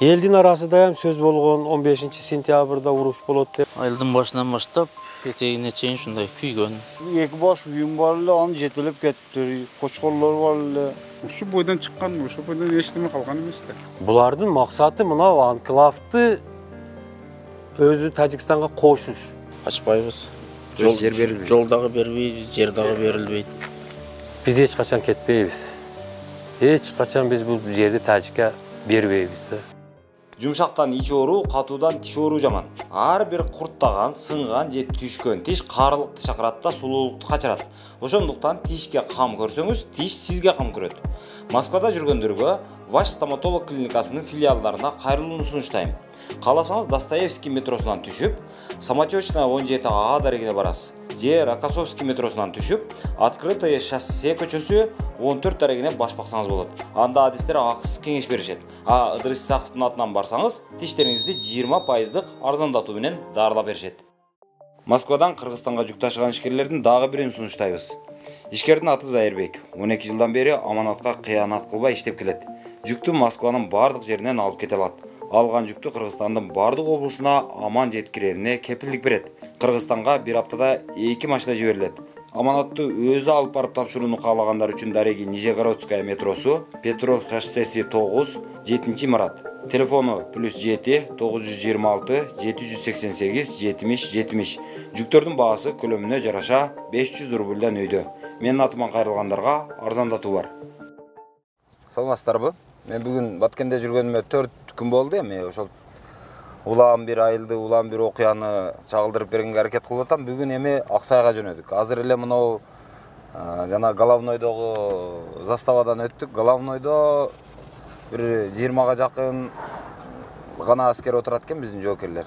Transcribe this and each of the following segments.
Элдин арасында ham сөз болгон 15-сентябрда уруш болот деп. Айылдын башынан баштап этегине чейин ушундай күйгөн. Эки баш үйүм бар эле, аны жетелеп кетти. Кочкорлор бар эле. Ушу бойдон чыккан, ошол бойдон эчтеме калган эмес да. Булардын максаты мына анклавды өзү Тажикстанга кошуш. Качпайбыз. Жер берилбейт. Жол дагы бербейбиз, жер дагы берилбейт. Биз эч качан кетпейбиз. Эч качан биз бул жерди Тажикка бербейбиз да. Жумшактан ич оору, катуудан тиш оору жаман. Ар бир курттаган, сынган же түшкөн тиш карылыкты чакырат да сулуулукту качырат. Ошондуктан тишке кам көрсөңүз, тиш сизге кам көрөт. Москвада жүргөндөргө Ваш стоматолог клиникасынын филиалдарына кайрылууну сунуштайм. Кааласаңыз Достоевский метросунан түшүп, Самотечная 17А дарегине барасыз. Же Рокоссовский метросунан түшүп, Открытое шоссе көчөсү 14 дарегине баш баксаңыз болот. Анда адистер акысыз кеңеш беришет. Ыдырыс Исаковдун атынан барсаңыз, тиштериңизди 20% арзандатуу менен дарылап беришет. Москвадан Кыргызстанга жүк ташыган ишкерлердин дагы бирин сунуштайбыз. Ишкердин аты Зайырбек. 12 жылдан бери аманатка кыянат кылбай иштеп келет. Жүктү Москванын бардык жеринен алып кете алат. Алган жүктү Кыргызстандын бардык облусуна аман жеткирерине кепилдик берет. Кыргызстанга бир аптада 2 машина жиберилет. Аманатты өзү алып барып тапшырууну каалагандар үчүн дареги Нижегородская метросу, Петров шоссеси 9, 7-марат. Телефону +7 926 788 70 70. Жүктөрдүн баасы көлөмүнө жараша 500 рубльдан өйдө. Менин атыман кайрылгандарга арзандатуу бар. Саламатсыздарбы? Мен бүгүн Баткенде жүргөнүмө 4 күн болду. Эми ошол улам бир айылды, улам бир окуяны чагылдырып бергенге аракет кылып атам. Бүгүн эми Аксайга жөнөдүк. Азыр эле мынау жана Головнойдогу заставадан өттүк. Головнойдо бир 20га жакын гана аскер отурат экен биздин жоокерлер.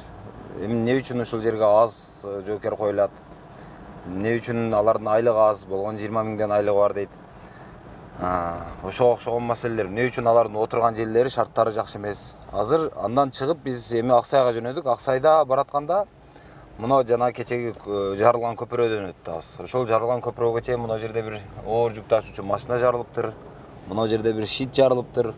Эми эмне үчүн ушул жерге аз жоокер коюлат? Эмне үчүн алардын айлыгы аз, болгон 20 миңден айлыгы бар дейт. Ошого окшогон маселелер. Эмне үчүн алардын отурган жерлери, шарттары жакшы эмес. Азыр андан чыгып биз эми Аксайга жөнөдүк. Аксайда баратканда мына жана кечеги жарылган көпүрөдөн өттүбүз. Ошол жарылган көпүрөгө чейин мына жерде бир оор жүк ташуучу машина жарылыптыр. Мына жерде бир шит жарылыптыр.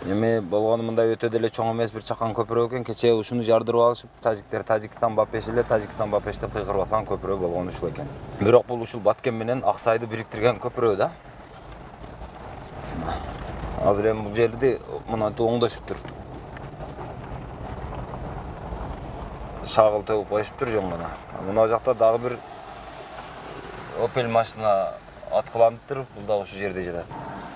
Эми болгону мындай өтө деле чоң эмес бир чакан көпүрө экен. Кече ушуну жардырып алышып, тажиктер Тажикстан Бапеш эле Тажикстан Бапеш деп кыйкырып аткан көпүрө болгону ушул экен. Бирок бул ушул Баткен менен Аксайды бириктирген көпүрө да. Азыр эми бул жерди мынантип оңдошуптур. Шагыл төгүп коюшуптур жөн гана. Мына жакта дагы бир Opel машина аткыланыптыр. Бул да ошол жерде жатат.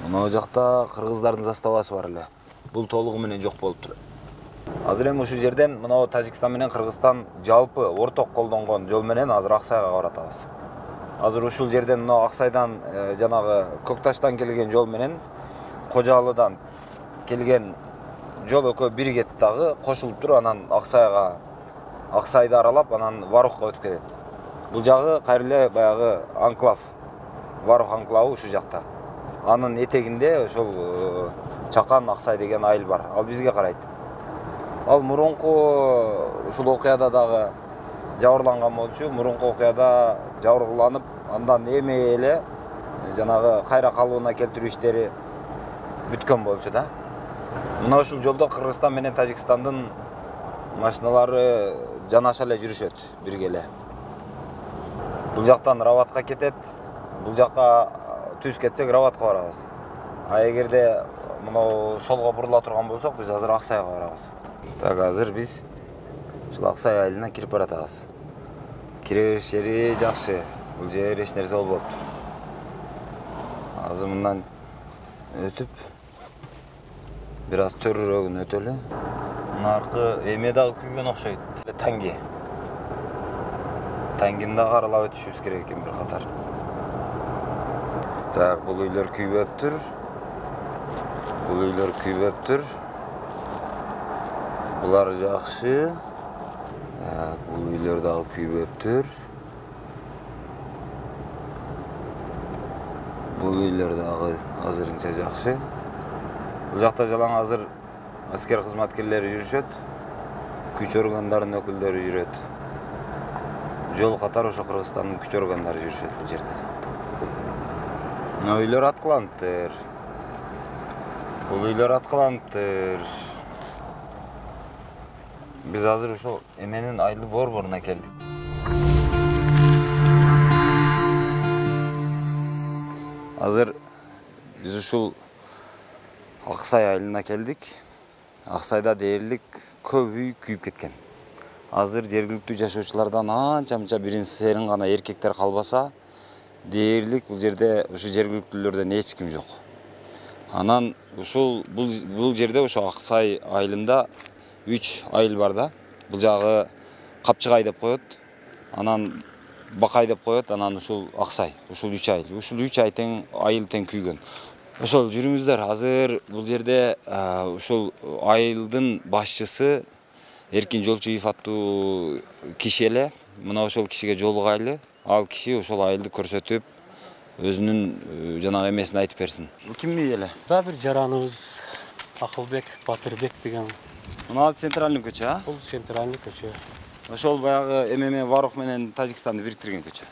Мына жакта кыргыздардын заставасы бар эле. Бул толугу менен жок болуптур. Азыр эми ушул жерден мына Тажикстан менен Кыргызстан жалпы орток колдонгон жол менен азыр Аксайга баратабыз. Азыр ушул жерден мына Аксайдан жанагы Көкташтан келген жол менен Кожалыдан келген жол экөө биригет дагы кошулуптур. Анан Аксайды аралап, анан Варухка өтүп кетет. Бул жагы кайра эле баягы анклав, Варух анклавы ушул жакта. Анын этегинде ошол Чакан Аксай деген айыл бар. Ал бизге карайт. Ал мурунку ушул окуяда дагы жабырланган болчу. Мурунку окуяда жабыркыланып, андан эми эле жанагы кайра калыбына келтирүү иштери бүткөн болчу да. Мына ушул жолдо Кыргызстан менен Тажикстандын машиналары жанаша эле жүрүшөт бирге эле. Бул жактан Раватка кетет, бул жакка түз кетсек Раватка барабыз. А эгерде мына солго бурула турган болсок, биз азыр Аксайга барабыз. Так, азыр биз ушул Аксай айылына кирип баратабыз. Кире бериш жери жакшы. Бул жер эч нерсе болбоптур. Азыр мындан өтүп бир аз төрүрөгүн өтөлү. Наркы эме дагы күйгөн окшойт. Танги. Тангини дагы аралап өтүшүбүз керек экен бир катар. Так, бул үйлөр күйбөптүр. Бул үйлөр күйбөптүр. Булар жакшы. Бул үйлөр дагы күйбөптүр. Бул үйлөр дагы азырынча жакшы. Бул жакта жалаң азыр аскер кызматкерлери жүрүшөт. Күч органдарынын өкүлдөрү жүрөт. Жол катар ошо Кыргызстандын күч органдары жүрүшөт бул жерде. Үйлөр аткыланыптыр. Бул үйлөр аткыланыптыр. Биз азыр ошол эменин айыл борборуна келдик. Азыр биз ушул Аксай айылына келдик. Аксайда дээрлик көп үй күйүп кеткен. Азыр жергиликтүү жашоочулардан анча-мынча бирин серин гана эркектер калбаса, дээрлик бул жерде ушу жергиликтүүлөрдөн эч ким жок. Анан ушул бул жерде ошо Аксай айылында 3 айыл бар да. Бул жагы Капчыгай деп коет. Анан Бакай деп коет, анан ушул Аксай. Ушул 3 айыл. Ушул 3 айыл тең күйгөн. Ошол жүрүңүздөр. Азыр бул жерде ушул айылдын башчысы Эркин Жолчуев аттуу киши эле. Мына ошол кишиге жолугайлы. Ал киши ошол айылды көрсөтүп, өзүнүн жанагы эмесин айтып берсин. Бул кимдин үй эле? Да бир жараныбыз Акылбек, Батырбек деген. Мына центральный көчө, а? Бул центральный көчө. Ошол баягы ММ Варух менен Тажикстанды бириктирген көчө.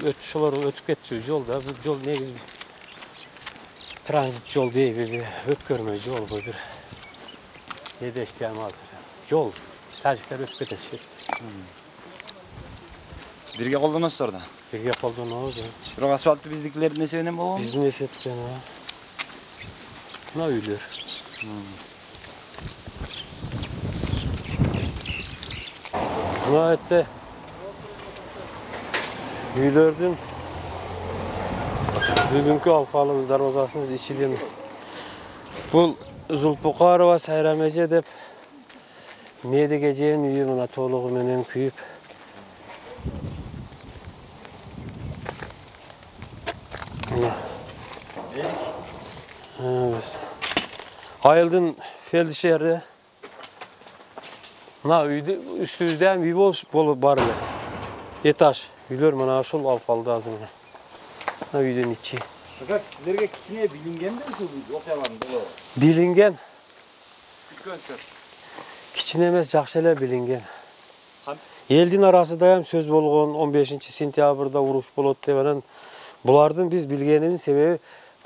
Ошолор өтүп кетчү жол да. Бул жол негизи транзит жол дейби, өткөрмө жол бу бир. Не дештем азыр. Жол. Тажиктер өтүп кетишет. Бирге колдоносуздар да. Бирге колдонобуз. Бирок асфальтты биздикилердин эсебинен болгон. Биздин эсептен. Мына үйлөр. Мына этте үйлөрдүн бүгүнкү алкалын дарбазасынын ичиден бул Зулпукарова Сайрам эже деп Медик эженин үйү мына толугу менен күйүп. Айылдын фельдшери. Мына үйдө үстүбүздө үй болуп бар эле. Этаж үйлөр мына ушул алкалды азыр. Мына үйдөн ичи. Как силерге кичине билингенби ушул окуялардын болору? Билинген. Күткөнсүздөр. Кичине эмес, жакшы эле билинген. Элдин арасында ham сөз болгон 15-сентябрда уруш болот деп анан булардын биз билгенибиз себеби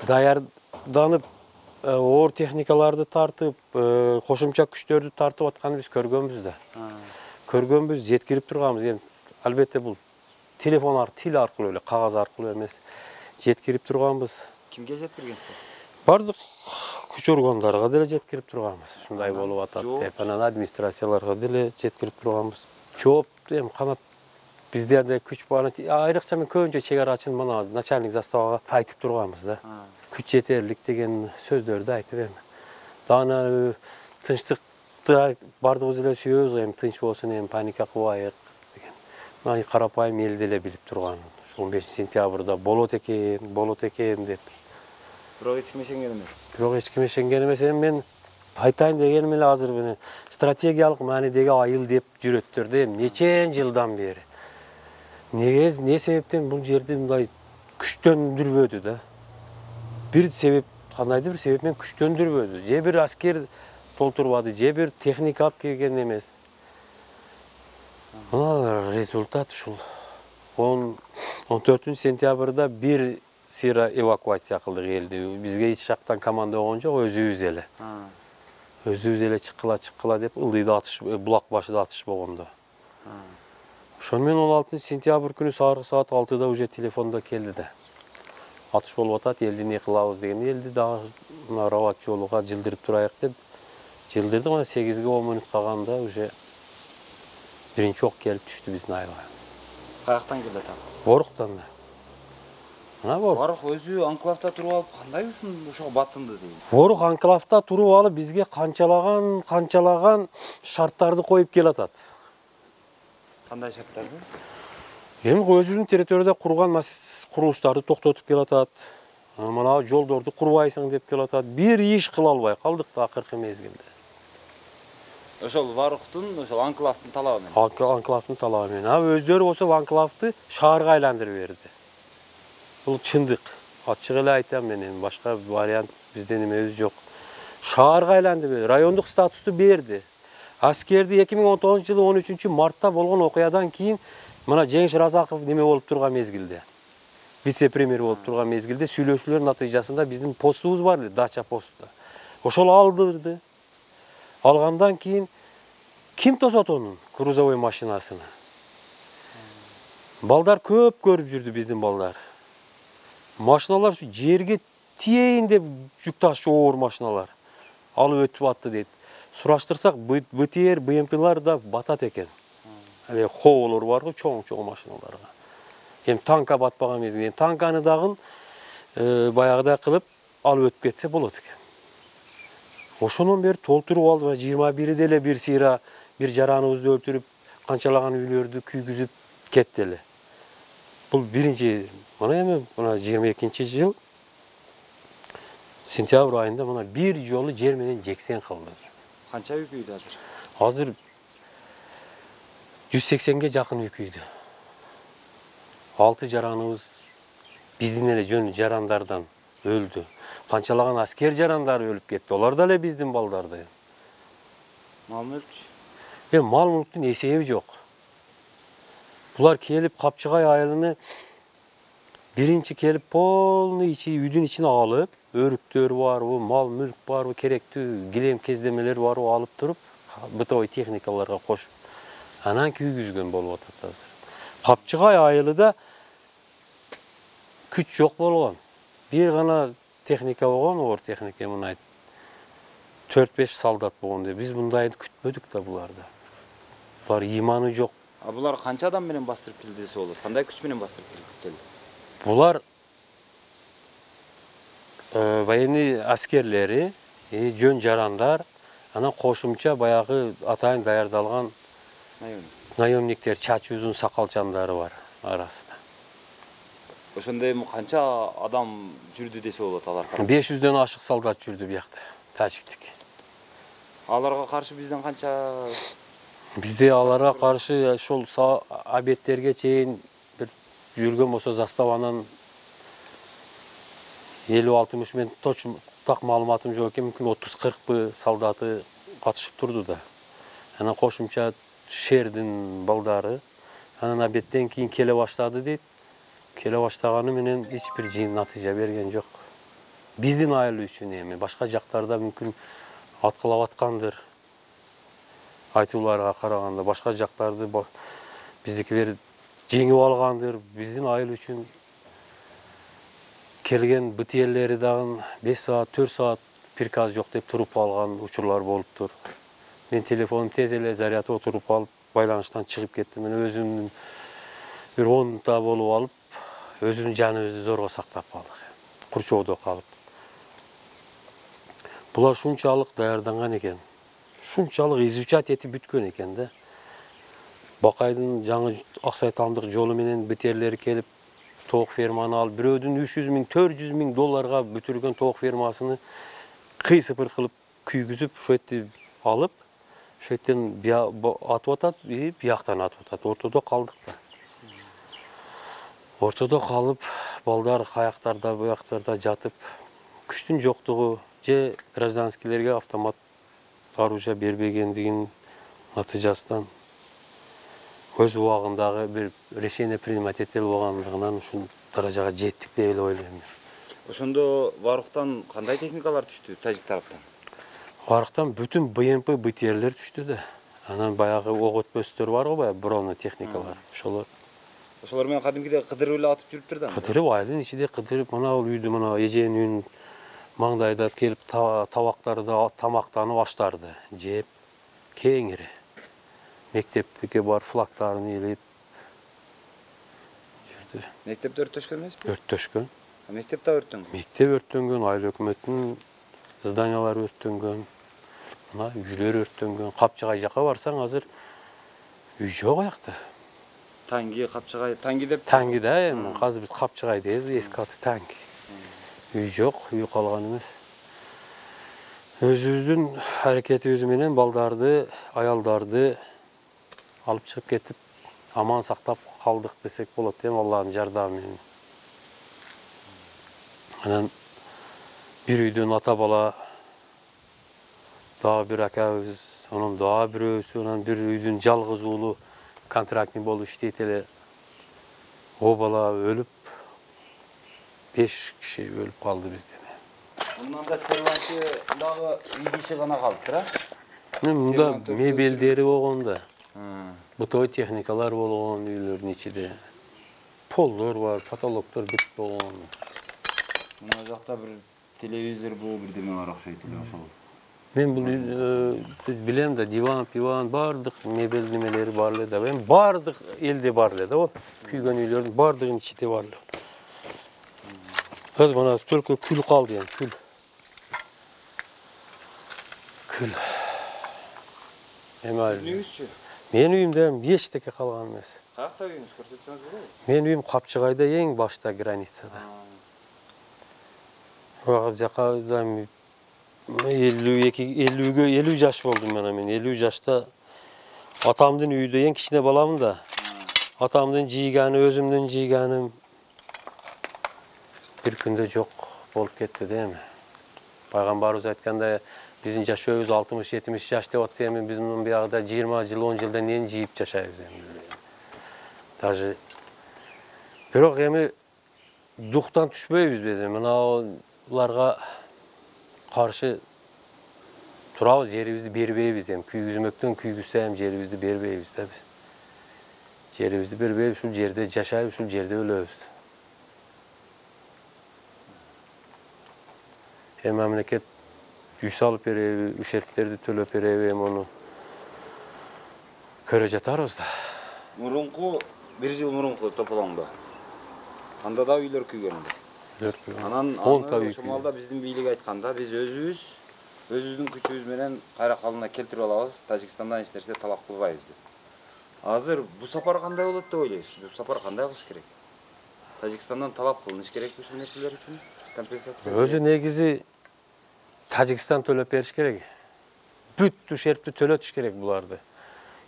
даярданып оор техникаларды тартып, кошумча күчтөрдү тартып атканын биз көргөнбүз да. Көргөнбүз, жеткирип турганбыз. Эми албетте бул телефон тил аркылуу эле, кагаз аркылуу эмес. Жеткирип турганбыз. Кимге жеткиргенсиздер? Бардык күч органдарга деле жеткирип турганбыз. Ушундай болуп атат деп, анан администрацияларга деле жеткирип турганбыз. Жооп эми канат биздерде күч бар. Айрыкча мен көбүнчө чек арачын мына начальник заставага айтып турганбыз да. Күч жетерлик деген сөздөрдү айтып эми. Дана тынчтыкты бардыгыбыз эле сүйөбүз, эми тынч болсун, эми паника кылбайык деген. Мына карапайым эл деле билип турган. 15-сентябрда болот экен деп. Бирок эч ким ишенген эмес. Эми мен айтайын дегеним эле азыр мына стратегиялык маанидеги айыл деп жүрөттөр да эми нечен жылдан бери. Не себептен бул жерди мындай күчтөндүрбөдү да. Бир себеп, кандайдыр бир себеп менен күчтөндүрбөдү. Же бир аскер толтурбады, же бир техника алып келген эмес. Мына результат ушул. 14-сентябрда бир сыйра эвакуация кылдык элди. Бизге эч жактан команда болгон жок, өзүбүз эле. Өзүбүз эле чыккыла деп ылдыйда атыш, булак башыда атыш болгондо. Ошон менен 16-сентябрь күнү саат 6-да уже телефондо келди да. Атыш болуп атат, элди не кылабыз деген. Элди дагы Рават жолуга жылдырып турайык деп жылдырдык. Мына 8-ге 10 мүнөт калганда уже биринчи ок келип түштү биздин айылга. Каяктан келди ата? Воруктан да. Мына Ворух өзү анклавда туруп алып кандай ошого батынды дейм. Ворух анклавда туруп алып бизге канчалаган шарттарды коюп келатат. Кандай шарттарды? Эми өзүнүн территорияда курган курулуштарды токтотуп келатат. Мына жолдорду курбайсың деп келатат. Бир иш кыла албай калдык да акыркы мезгилде. Ошол Варухтун, ошол анклавдын талабы менен. Анклавдын талабы менен. Өздөрү болсо анклавды шаарга айландырып берди. Бул чындык. Ачык эле айтам мен, эми башка вариант бизден эмебиз жок. Шаарга айландырып берди, райондук статусту берди. Аскерди 2019-жылы 13-мартта болгон окуядан кийин мына Жеңиш Разаков неме болуп турган мезгилде. Вице-премьер болуп турган мезгилде сүйлөшүүлөр натыйжасында биздин постубуз бар эле, дача посту. Ошол алдырды. Алгандан кийин Ким тосот онун грузовой машинасыны? Балдар көп көрүп жүрдү биздин балдар. Машиналар şu жерге тиейин деп жүк ташчу оор машиналар алып өтүп атты дейт. Сураштырсак БТР, БМПлар да батат экен. Хоолор бар го, чоң машиналарга. Танка батпаган мезгилде танканы дагы баягыдай кылып алып өтүп кетсе болот экен. Ошондон бери толтуруп алды. 21-де эле бир сыйра бир жараныбызды өлтүрүп, канчалаган үйлөрдү күйгүзүп кетти эле. Бул биринчи, мына 22-жыл сентябрь айында мына бир жолу жер менен жексен кылды. Канча үй күйдү азыр? Азыр 180ге жакын үй күйдү. 6 жараныбыз биздин эле жөн жарандардан өлдү. Канчалаган аскер жарандары өлүп кетти. Олар да эле биздин балдарды. Мал мүлк? Мал мүлктүн эсеби жок. Булар келип Капчыгай айылыны биринчи келип полный үйдүн ичине алып, өрүктөр барбы, мал мүлк барбы, керектүү килем кездемелер барбы алып туруп, бытовой техникаларга кошуп, анан күйгүзгөн болуп атат азыр. Капчыгай айылында күч жок болгон. Бир гана техника болгон, оор техника мына 4-5 солдат болгон. Биз мындайды күтпөдүк да буларда. Булар иманы жок. Булар канча адам менен бастырып келди десе болот? Кандай күч менен бастырып келди? Булар военный аскерлери, жөн жарандар, анан кошумча баягы атайын даярдалган наемниктер, чачы узун сакалчандары бар арасында. Ошондой канча адам жүрдү десе болот алар? 500дөн ашык солдат жүрдү биякта, тажиктик. Аларга каршы бизден канча? Бизде аларга каршы ошол объекттерге чейин бир жүргөн болсо заставанын 50-60 мен точно так маалыматым жок экен, мүмкүн 30-40 солдаты катышып турду да. Анан кошумча шердин балдары анан объекттен кийин келе баштады дейт. Келе баштаганы менен эч бир жыйын натыйжа берген жок. Биздин айыл үчүн эми башка жактарда мүмкүн аткылап аткандыр. Айтууларга караганда башка жактарды биздикилер жеңип алгандыр. Биздин айыл үчүн келген БТРлери дагы 5 саат, 4 саат приказ жок деп туруп алган учурлар болуптур. Мен телефонум тез эле зарядка отуруп алып, байланыштан чыгып кеттим. Мен өзүмдүн бир 10 болуп алып, өзүнүн жаныбызды зорго сактап калдык. Курчоодо калып. Булар шунчалык даярданган экен. Шунчалык изучать этип бүткөн экен да. Бакайдын жаңы Аксай Тамдык жолу менен БТРлери келип тоок ферманы алып, бирөөдүн 300 миң, 400 миң долларга бүтүргөн тоок фермасыны кый-сыпыр кылып күйгүзүп, ошо жерди алып, ошо жерден атып атат, бияктан атып атат. Ортодо калдык да. Ортодо калып, балдар каяктарда, буяктарда жатып, күчтүн жоктугу же гражданскийлерге автомат оружие бербегендигин натыйжасынан өз убагындагы бир решение принимать этели болгондугунан ушул даражага жеттик деп эле ойлойм. Ошондо Варуктан кандай техникалар түштү тажик тараптан? Варуктан бүтүн БМП, БТРлер түштү да. Анан баягы ок өтпөстөр бар го, баягы броны техникалар. Ошолор менен кадимкидей кыдырып эле атып жүрүптүр да. Кыдырып, айылдын ичинде кыдырып, мына бул үйдү, мына эженин үйүн маңдайда келип табактарды тамактанып аштарды жеп кеңири. Мектептике бар флагтарын илип жүрдү. Мектепте өрттөшкөн эмеспи? Өрттөшкөн. Мектеп да өрттөнгөн? Мектеп өрттөнгөн, айыл өкмөттүн зданиялары өрттөнгөн, мына үйлөр өрттөнгөн. Капчыгай жака барсаң азыр үй жок аякта. Танги, Капчыгай, Танги деп? Танги да, эми азыр биз Капчыгай дейбиз, эски аты Танги. Үй жок, үй калган эмес. Өзүбүздүн аракетибиз менен балдарды, аялдарды алып чыгып кетип, аман сактап калдык десек болот, Алланын жардамы менен. Анан бир үйдөн ата бала, дагы бир акабыз, анан дагы бирөөсү, анан бир үйдүн жалгыз уулу контрактный болуп иштейт эле. О бала өлүп, 5 киши өлүп калды бизден. Мындан да серванты дагы 2 киши гана калыптыр, а? Мында мебелдери болгон да. Бытовой техникалар болгон үйлөрдүн ичинде. Полдор бар, потолоктор бүт болгон. Мына жакта бир телевизор бирдеме бар окшойт эле ошол. Мен бул билем да, диван, бардык мебел немелери бар эле да. Эми бардык элде бар эле да, вот күйгөн үйлөрдүн бардыгынын ичинде бар эле. Азыр мына только күл калды эми, күл. Күл. Сиздин үйүңүзчү? Менин үйүмдө эчтеке калган эмес. Каякта үйүңүз көрсөтсөңүз болобу? Менин үйүм Капчыгайда, эң башта границада. Ага жака 50 жаш болдум мен. 50 жашта атамдын үйүдө эң кичине баламын да. Атамдын жыйганы, өзүмдүн жыйганым бир күндө жок болуп кетти да эми. Пайгамбарыбыз айткандай, биздин жашообуз 60-70 жаш деп атса эми биз мунун биягында 20 жыл, 10 жылдан кийин жыйып жашайбыз эми. Даже бирок эми дуктан түшпөйбүз биз. Мына уларга каршы турабыз, жерибизди бербейбиз эми. Күйгүзмөктөн күйгүзсө эми жерибизди бербейбиз да биз. Жерибизди бербейбиз, ушул жерде жашайбыз, ушул жерде өлөбүз. Эми мамлекет үй салып береби, ушерптерди төлөп береби, эми ону көрө жатарбыз да. Мурунку, бир жыл мурунку тополоңдо. Анда да үйлөр күйгөн. Анан ошол маалда биздин бийлик айтканда, биз өзүбүздүн күчүбүз менен кайра калыбына келтирип алабыз, Тажикстандан эч нерсе талап кылбайбыз деп. Азыр бу сапар кандай болот деп ойлойсуз? Бу сапар кандай кылыш керек? Тажикстандан талап кылыныш керек ушул нерселер үчүн? Компенсация. Өзү негизи Тажикстан төлөп бериш керек. Бүт ушерпти төлөтүш керек буларды.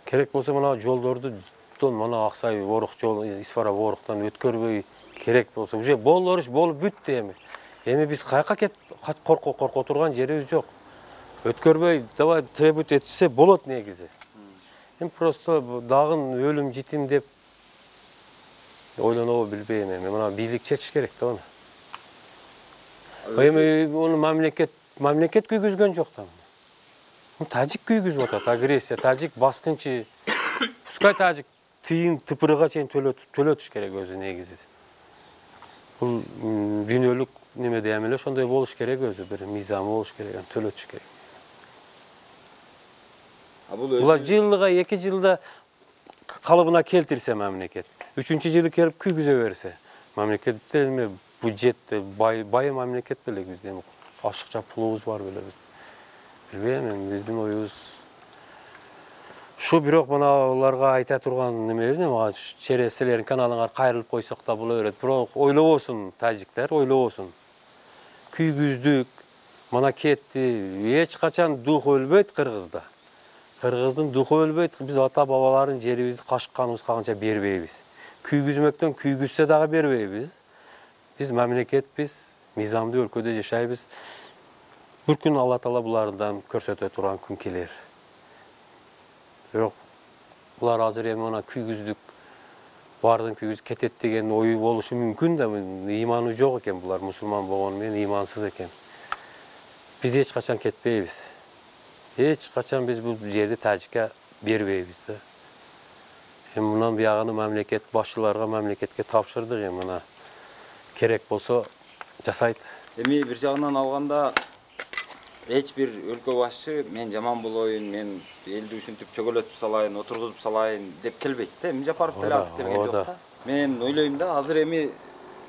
Керек болсо мына жолдорду мына Аксай Орок жол, Исфара Ороктан өткөрбөй, керек болсо уже болор иш болуп бүттү эми. Эми биз каяка корко турган жерибиз жок. Өткөрбөй, давай требовать этсе болот негизи. Эми просто дагы өлүм житим деп ойлонобу билбейм эми. Мына бийлик чечиш керек да аны. Эми ону мамлекет күйгүзгөн жок да. Тажик күйгүзүп атат, агрессия, тажик баскынчы. Пускай тажик тыйын тыпырыга чейин төлөтүш керек өзү негизи. Бул дүйнөлүк немеде эмеле ошондой болуш керек өзү, бир мыйзамы болуш керек, төлөтүш керек. Булар жылга 2 жылда калыбына келтирсе мамлекет, 3-жылы келип күйгүзө берсе, мамлекетте эме бюджетте бай мамлекет белек бизде, ашыкча пулубуз бар беле биз. Билбейм, эми биздин оюбуз шу, бирок мына уларга айта турган немебиз, мага череселерин каналыңар кайрылып койсок да боло берет. Бирок ойлобосун тажиктер, ойлобосун. Күйгүздүк, мына кетти, эч качан дух өлбөйт Кыргызда. Кыргыздын духу өлбөйт, биз ата-бабалардын жерибизди кашыкканыбыз калганча бербейбиз. Күйгүзмөктөн күйгүзсө дагы бербейбиз. Биз мамлекетпиз, мыйзамдуу өлкөдө жашайбыз. Бир күн Алла Таала булардан көрсөтө турган күн келер. Бирок булар азыр эми мына күйгүздүк, бардын күйгүз кетет деген ою болушу мүмкүн да, ыйманы жок экен булар, мусулман болгону менен ыймансыз экен. Биз эч качан кетпейбиз. Эч качан биз бул жерди тажикке бербейбиз да. Эми мындан биягыны мамлекет башчыларга, мамлекетке тапшырдык, эми мына керек болсо жасайт. Эми бир жагынан алганда эч бир өлкө башчы мен жаман болоюн, мен элди ушинтип чөгөлөтүп салайын, отургузуп салайын деп келбейт да. Эми Жапаров деле антип келген жок да. Мен ойлойм да, азыр эми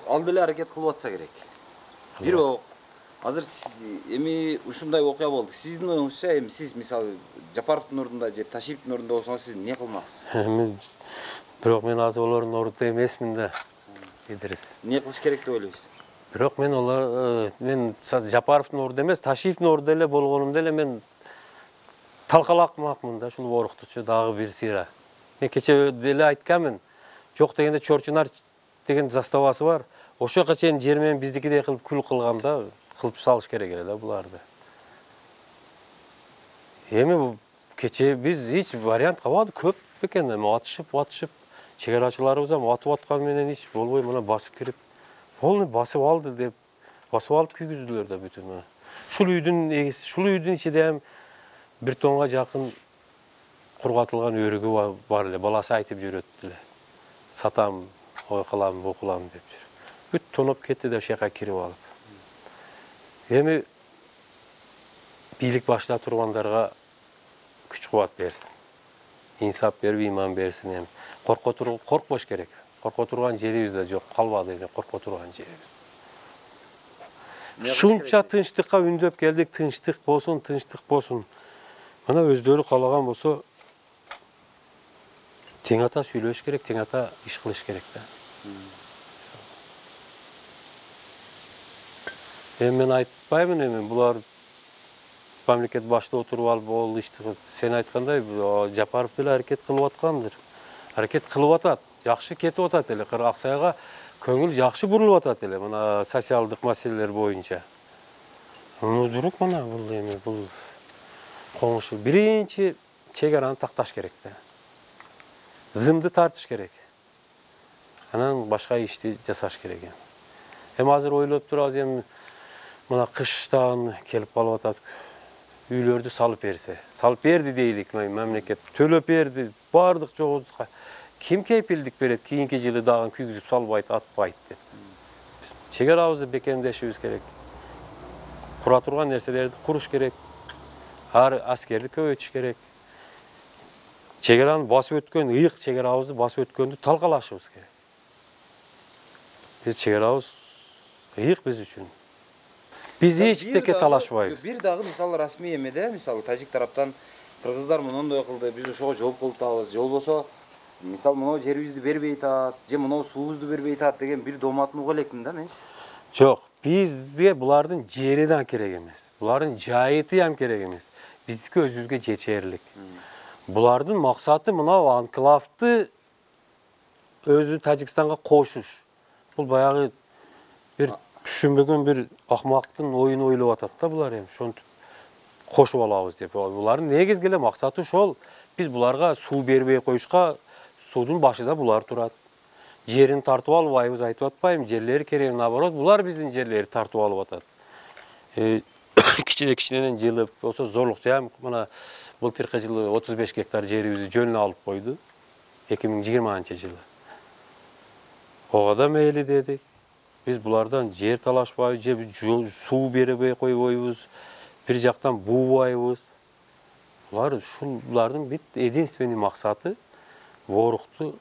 ал деле аракет кылып атса керек. Бирок азыр эми ушундай окуя болду. Сиздин оюңузча эми сиз мисалы Жапаровдун ордунда же Ташиевдин ордунда болсоңуз сиз эмне кылмаксыз? Бирок мен азыр олордун ордунда эмесмин да. Идрис. Эмне кылыш керек деп ойлойсуз? Бирок мен Жапаровдун ордунда эмес, Ташиевдин ордунда эле болгонумда эле мен талкалакмакмын да, ушул Ороктучу дагы бир сыйра. Мен кече деле айтканмын. Жок дегенде Чорчунар деген заставасы бар. Ошоға чейин жер менен биздикидей кылып күл кылганда, кылып салыш керек эле да буларды. Эми кече биз эч вариант кабады, көп экен, атышып, чегарачыларыбыз атып атканы менен эч болбой, мына басып кирип, полный басып алды деп, басып алып күйгүздүлөр да бүтүн. Ушул үйдүн ичинде 1 тонга жакын кургатылган өрүгү бар эле. Баласы айтып жүрөт эле. Сатам, ой кылам, бу кылам деп жүр. Бүт тоноп кетти да ошол жака кирип алып. Эми бийлик башында тургандарга күч кубат берсин. Инсап берип, иман берсин эми. Коркпош керек. Корко турган жерибиз да жок, калбады эле корко турган жерибиз. Шунча тынчтыкка үндөп келдик, тынчтык болсун, тынчтык болсун. Мына өздөрү каалаган болсо тең ата сүйлөш керек, тең ата иш кылыш керек да. Эми мен айтпаймын, эми булар мамлекет башта отуруп алып ол ишти сен айткандай Жапаров деле аракет кылып аткандыр. Аракет кылып атат, жакшы кетип атат эле. Аксайга көңүл жакшы бурулуп атат эле мына социалдык маселелер боюнча. Дурук мына бул эми бул коңушу биринчи чек-араны такташ керек да. Зымды тартыш керек. Анан башка ишти жасаш керек. Эми азыр ойлоп турабыз, эми мына кыштан келип калып атат. Үйлөрдү салып берсе, салып берди дейлик, мамлекет төлөп берди, бардык жогубузга. Ким кепилдик берет, кийинки жылы дагы күйгүзүп салбайт, атпайт деп. Чек арабызды бекемдешибиз керек. Кура турган нерселерди куруш керек. Аскерди көбөйтүш керек. Чек араны басып өткөн, ыйык чек арабызды басып өткөндү талкалашыбыз керек. Биз чек арабыз ыйык биз үчүн. Биз эчтеке талашпайбыз. Бир дагы мисалы расмий эмеде, мисалы тажик тараптан кыргыздар мондой кылды, биз ошого жооп кылып атабыз, же болбосо мисалы моноо жерибизди бербей атат, же моноо суубузду бербей атат деген бир доматын уга электим да мен. Жок, бизге булардын жери да керек эмес. Булардын жайыты ham керек эмес. Биздики өзүбүзгө жетерлик. Булардын максаты мына анклавды өзү Тажикстанга кошуш. Бул баягы бир түшүнбөгөн бир акмактын оюн ойлоп атат да булар эми. Ошонтип кошуп алабыз деп. Булардын негизги эле максаты ошол. Биз буларга суу бербей коюшка судун башында булар турат. Жерин тартып албайбыз, айтып атпайм, жерлери керек, наоборот, булар биздин жерлерди тартып алып атат. Кичинен жылып, болсо зорлук жам, мына былтыркы жылы 35 гектар жерибизди жөнүнө алып койду. 2020-жылы. Ого да мейли дедик. Биз булардан жер талашпайбыз, же суу бербей койбойбуз, бир жактан буубайбыз. Булардын бит единственный максаты ворукту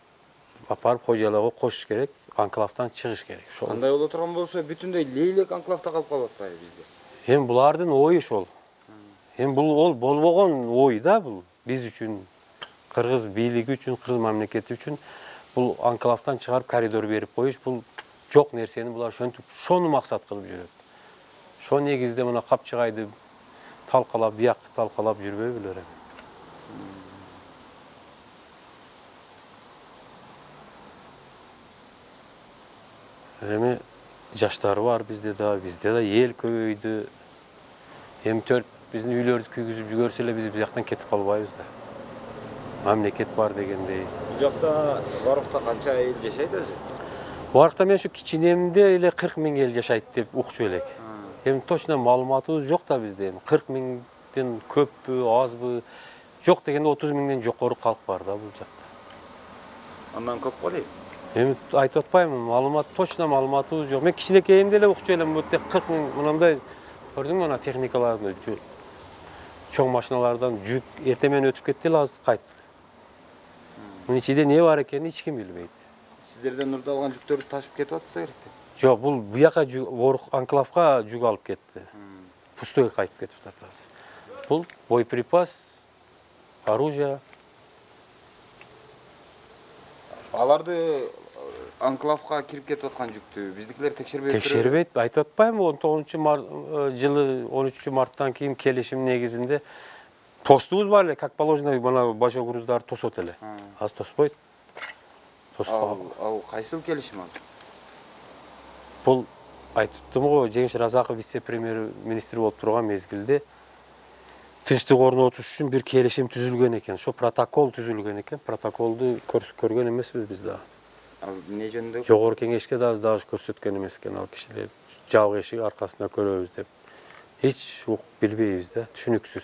апарып кожойлоого кошуш керек, анклавдан чыгыш керек. Андай боло турган болсо бүтүндөй лейлек анклавда калып калып атпайбы бизде? Эми булардын ою ошол. Эми бул ол болбогон ой да бул. Биз үчүн, кыргыз бийлиги үчүн, кыргыз мамлекети үчүн бул анклавдан чыгарып коридор берип коюш, бул жок нерсени булар ошентип, шону максат кылып жүрөт. Ошол негизде мына Капчыгайды талкалап, биякты талкалап жүрбөй билер эми. Эми жаштар бар bizde da ел көбөйдү. Эми биздин үйлөрдү күйгүзүп жүргөрсө эле биз бияктан кетип калбайбыз да. Мамлекет бар дегендей. Бул жакта Барукта канча эл жашайт өзү? Барукта мен ушу кичинемде эле 40 000 эл жашайт деп укчу элек. Эми точно маалыматыбыз жок да бизде. 40 000ден көппү, азбы? Жок дегенде 30 000ден жокору калк бар да бул жакта. Андан көп го дейм. Эми айтып атпаймын, маалымат точно маалыматыбыз жок. Мен кичинекейимде эле укчу элем, бут 40 000 мындай көрдүңбү ана техникаларды, чоң машиналардан жүк эртемен өтүп кетти эле азыр кайтты. Мунун ичинде не бар экенин эч ким билбейт. Сиздерден урдалган жүктөрдү ташып кетип атса керек да. Жок, бул буяка анклавга жүк алып кетти. Пустойго кайтып кетип атат азыр. Бул боеприпас, оружие. Аларды анклавга кирип кетип аткан жүктү биздикилер текшербей турбайбы? Текшербейт, айтып атпаймынбы, 19-жылы 13-марттан кийин келишим негизинде тостубуз бар эле, как положено, мына башка груздар тосот эле. Азыр тоспойт. Ал кайсыл келишим ал? Бул айтыптым го, Жеңиш Разаков вице-премьер-министр болуп турган мезгилде тынчтык орнотуш үчүн бир келишим түзүлгөн экен. Ошо протокол түзүлгөн экен. Протоколду көргөн эмеспиз биз да. Ал эмне жөнүндө? Жогорку кеңешке дагы көрсөткөн эмес экен ал кишилер. Жабык эшик аркасында көрөбүз деп. Эч билбейбиз да, түшүнүксүз.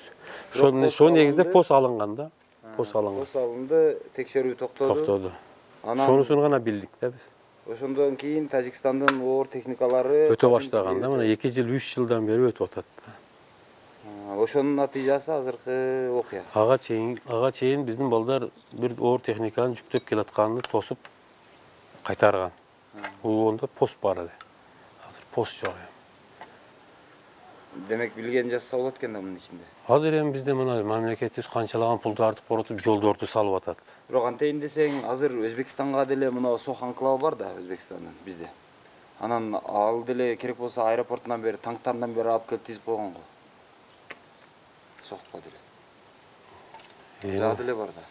Ошол негизде пост алынган да. Пост алынган. Пост алынды, текшерүү токтоду. Ошонусун гана билдик да биз. Ошондон кийин Тажикстандын оор техникалары Өтө баштаган да, мына 2 жыл, 3 жылдан бери өтүп атат да. Ошонун натыйжасы азыркы окуя. Ага чейин биздин балдар бир оор техниканын жүктөп келатканын тосуп кайтарган. Онда пост бар эле. Азыр пост жок. Демек билген жазса болот экен да мунун ичинде. Азыр эми бизде мына мамлекетибиз канчалаган пулдарды коротуп, жолдорду салып атат. Бирок антейин десең, азыр Өзбекстанга деле мына Сох анклавы бар да Өзбекстандын бизде. Анан ал деле керек болсо аэропортунан бери, танктарынан бери алып келип тизип койгон го. Сохко деле. Жаа деле бар да.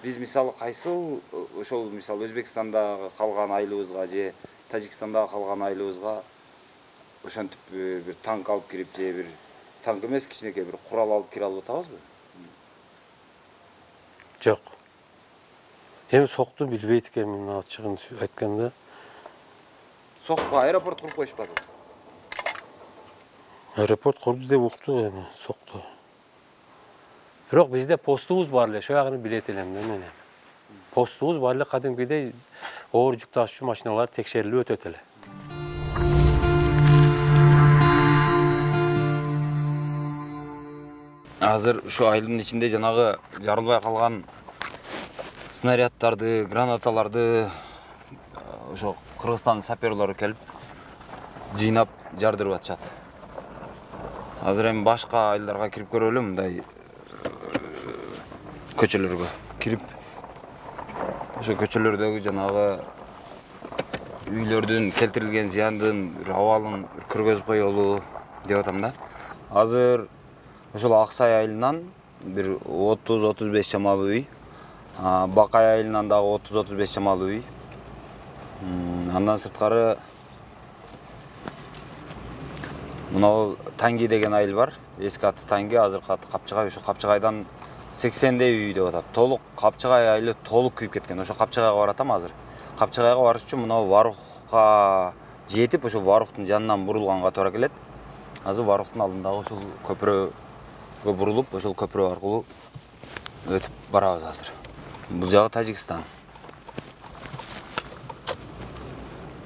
Биз мисалы кайсыл ошол мисалы Өзбекстандагы калган айылыбызга же Тажикстандагы калган айылыбызга ошентип бир танк алып кирип же бир танк эмес, кичинекей бир курал алып кире алып атабызбы? Жок. Эми Сокту билбейт экенмин, ачыгын айтканда. Сохко аэропорт куруп коюшпадыбы? Аэропорт курду деп уктук эми Сокту. Бирок бизде постубуз бар эле, ошол билет элем да мен. Постубуз бар эле, кадимкидей оор жүк ташуучу машиналар текшерилип өтөт эле. Азыр ушу айылдын ичинде жанагы жарылбай калган снаряддарды, гранаталарды ошо Кыргызстан саперлору келип жыйнап жардырып атышат. Азыр эми башка айылдарга кирип көрөлү, мындай көчөлөргө кирип ошо көчөлөрдөгү жанагы үйлөрдүн келтирилген зыяндын абалын көргөзүп коелу деп атам да. Азыр ошол Аксай айылынан бир 30-35 чамалуу үй, Бакай айылынан дагы 30-35 чамалуу үй. Андан сырткары мына Танги деген айыл бар. Эски аты Танги, азыркы аты Капчыгай. Ошо Капчыгайдан 80дей үй деп атат. Толук Капчыгай айылы толук күйүп кеткен. Ошо Капчыгайга баратам азыр. Капчыгайга барыш үчүн мына Варухка жетип, ошо Варухтун жанынан бурулганга туура келет. Азыр Варухтун алдындагы ошол көпүрөгө бурулуп, ошол көпүрө аркылуу өтүп барабыз азыр. Бул жагы Тажикстан.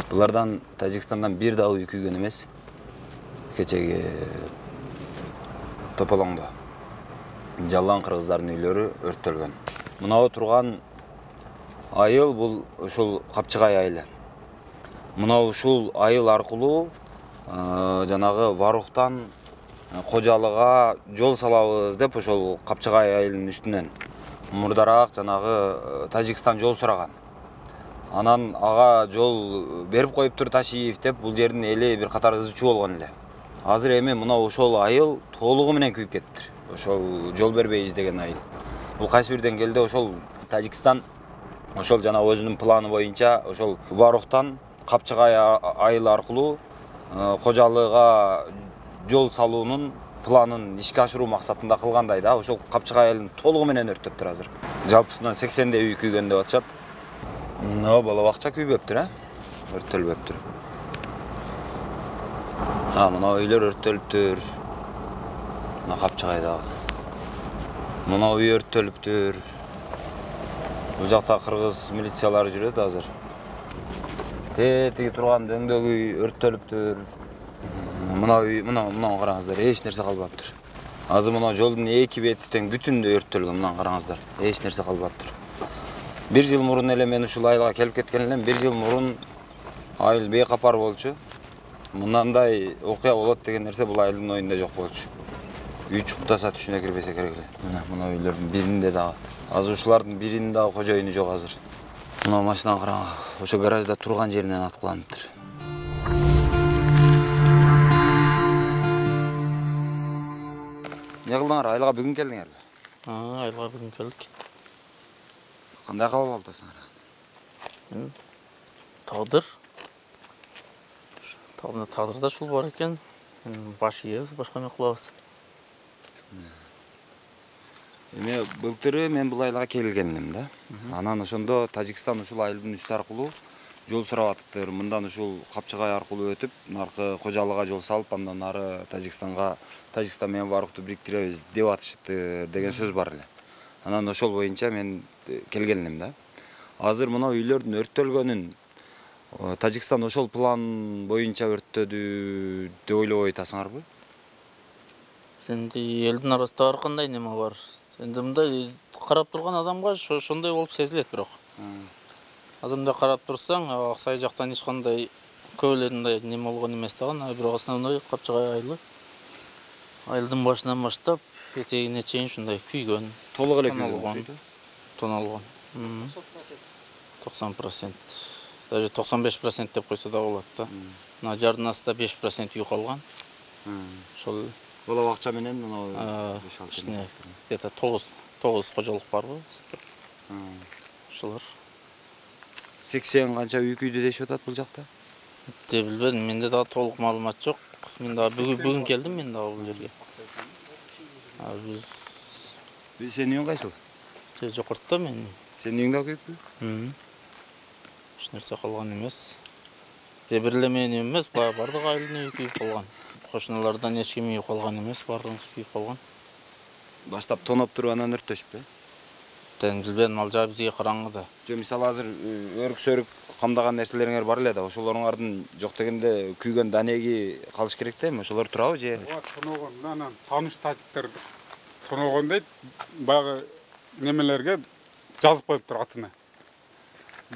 Булардан Тажикстандан бир дагы үй күйгөн эмес. Кечеги Тополоңдо жалган кыргыздардын үйлөрү өрттөлгөн. Мынау турган айыл бул ушул Капчыгай айылы. Мынау ушул айыл аркылуу жанагы Варухтан Кожалыга жол салабыз деп ошол Капчыгай айылынын үстүнөн мурдараак жанагы Тажикстан жол сураган. Анан ага жол берип коюптур Ташиев деп бул жердин эли бир катар ызычуу болгон эле. Азыр эми мына ошол айыл толугу менен күйүп кетиптир. Ошол жол бербейбиз деген айыл. Бул кайсы бир деңгээлде ошол Тажикстан ошол жана өзүнүн планы боюнча ошол Варухтан Капчыгай айылы аркылуу Кожалыга жол салуунун планын ишке ашыруу максатында кылгандай да. Ошол Капчыгай айылын толугу менен өрттөптүр азыр. Жалпысынан 80дей үй күйгөн деп атышат. Мына бала бакча күйбөптүр, өрттөлбөптүр. Мына үйлөр өрттөлүптүр. Мына Капчыгайдагы. Мына үй өрттөлүптүр. Бул жакта кыргыз милициялары жүрөт азыр. Тетиги турган дөңдөгү үй өрттөлүптүр. Мына үй, мына караңыздар, эч нерсе калбаптыр. Азыр мына жолдун эки бети тең бүтүндөй өрттөлгөн, мына караңыздар. Эч нерсе калбаптыр. 1 жыл мурун эле мен ушул айылга келип кеткен элем. 1 жыл мурун айыл бейкапар болчу. Мындай окуя болот деген нерсе бул айылдын оюнда жок болчу. Үй чуктаса түшүнө кирбесе керек эле. Мына үйлөрдүн биринде дагы. Азыр ушулардын биринин дагы кожоюну жок азыр. Мына машина караң, ошо гаражда турган жеринен аткыланыптыр. Эмне кылдыңар? Айылга бүгүн келдиңерби? Айылга бүгүн келдик. Кандай кабыл алдыңар? Тагдыр. Тагдырда ушул бар экен. Баш ийебиз, башка эмне кылабыз? Эми былтыры мен бул айылга келген элем да. Анан ошондо Тажикстан ушул айылдын үстү аркылуу жол сурап атыптыр. Мындан ушул Капчыгай аркылуу өтүп, наркы Кожалыга жол салып, андан ары Тажикстан менен Барукту бириктиребиз деп атышыптыр деген сөз бар эле. Анан ошол боюнча мен келген элем да. Азыр мына үйлөрдүн өрттөлгөнүн Тажикстан ошол план боюнча өрттөдү деп ойлобой атасыңарбы? Эndi элдин арасында ар кандай неме бар. Эndi мындай карап турган адамга ошондой болуп сезилет бирок. Азыр мындай карап турсаң, Аксай жактан эч кандай көп эле мындай неме болгон эмес дагы, бирок основной Капчыгай айылы. Айылдын башынан баштап этегине чейин ушундай күйгөн. Толук эле күйгөн. Тоналган. 90%. Даже 95% деп койсо да болот да. Мына жардын астында 5% үй калган. Ошол Бала акча менен мына где-то 9 кожолук барбы? Ошолор. 80 канча үй күйдү дешип атат бул жакта? Деп билбедим, менде дагы толук маалымат жок. Мен дагы бүгүн келдим мен дагы бул жерге. Биз Сенин үйүң кайсыл? жокорто мен. Сенин үйүң да күйүппү? Эч нерсе калган эмес. Бир эле менин үйүм эмес, бардык айылдын үйү күйүп калган. Кошуналардан эч ким үйү калган эмес, бардыгыбыз күйүп калган. Баштап тоноп туруп анан өрттөшпү? Мен билбедим, ал жагы бизге караңгы да. Жо мисалы азыр өрүк-сөрүк камдаган нерселериңер бар эле да, ошолоруңардын жок дегенде күйгөн данеги калыш керек да эми, ошолор турабы же? Тоногон, анан тааныш тажиктер тоногон дейт, баягы немелерге жазып коюптур атына.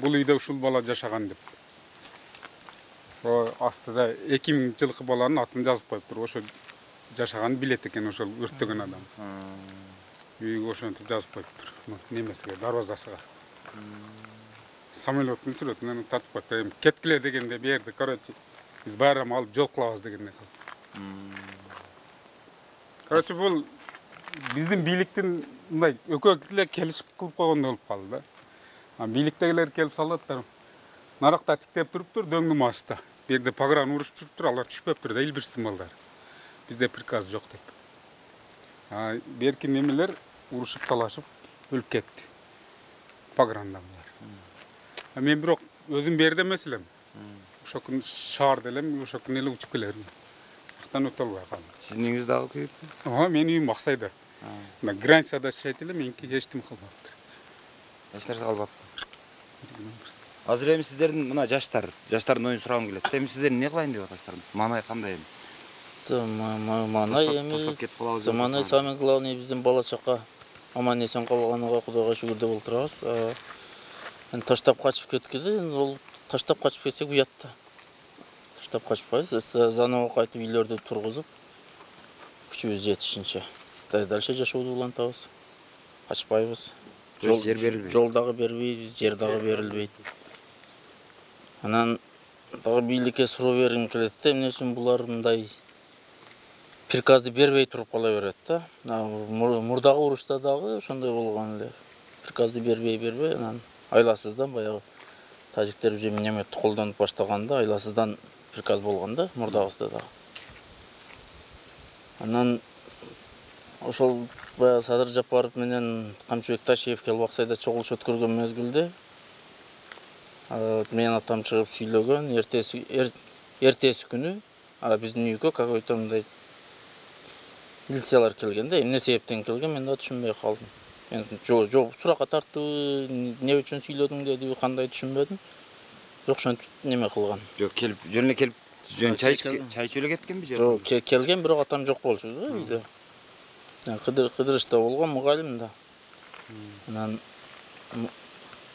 Бул үйдө ушул бала жашаган деп. Астыда 2000 жылкы баланын атын жазып коюптур. Ошо жашаганын билет экен ошол өрттөгөн адам. Үйгө ошентип жазып коюптур. Немесиге, дарбазасыга. Самолеттун сүрөтүн тартып коюптур. Кеткиле дегенде берди, короче. Биз байрам алып жол кылабыз дегенде калды. Короче, бул биздин бийликтин мындай экөө эле келишип кылып койгондой болуп калды да. Бийликтегилер келип салаттыр. Наракта тиктеп туруптур, дөңнүн астында. Бу жерде погран урушуп туруптур, алар түшпөптүр да, илбирсин балдар. Бизде приказ жок деп. Берки немелер урушуп талашып өлүп кетти. Погранда булар. Мен бирок өзүм берде эмес элем. Ошо күн шаарда элем, ошо күн эле учуп келермин. Актан өтө албай калдым. Сиздин үйүңүз дагы күйүппү? Менин үйүм Аксайда. Границада жашайт эле, меники эчтим калбаптыр. Эч нерсе калбаптыр. Азыр эми сиздердин мына жаштардын оюн сурагым келет. Эми сиздер эмне кылайын деп атасыздар? Маанай кандай эми? Маанай эми таштап кетип калабыз деп маанай самый главный биздин бала чака аман эсен калганына Кудайга шүгүр деп отурабыз. Таштап качып кеткенде, ол таштап качып кетсек уят да. Таштап качпайбыз, заново кайтып үйлөрдү тургузуп, күчүбүз жетишинче дальше жашообузду улантабыз. Качпайбыз. Жер берилбейт. Жол дагы бербейбиз, жер дагы берилбейт. Анан дагы бийликке суроо бергим келет да, эмне үчүн булар мындай приказды бербей туруп кала берет да. Мурдагы урушта дагы ошондой болгон эле. Приказды бербей, анан айласыздан баягы тажиктер уже минометти колдонуп баштаганда айласыздан приказ болгон да, мурдагысында дагы. Анан ошол баягы Садыр Жапаров менен Камчыбек Ташиев келип Аксайда чогулуш өткөргөн мезгилде менин атам чыгып сүйлөгөн, эртеси күнү биздин үйгө какой-то мындай милициялар келген да, эмне себептен келген мен да түшүнбөй калдым. Мен жок суракка тартты, эмне үчүн сүйлөдүң деди, кандай түшүнбөдүм. Бирок ошентип неме кылган. Жок, жөн чай ичип эле кеткенби же? Жок, келген, бирок атам жок болчу да үйдө. Кыдырышта болгон мугалим да. Анан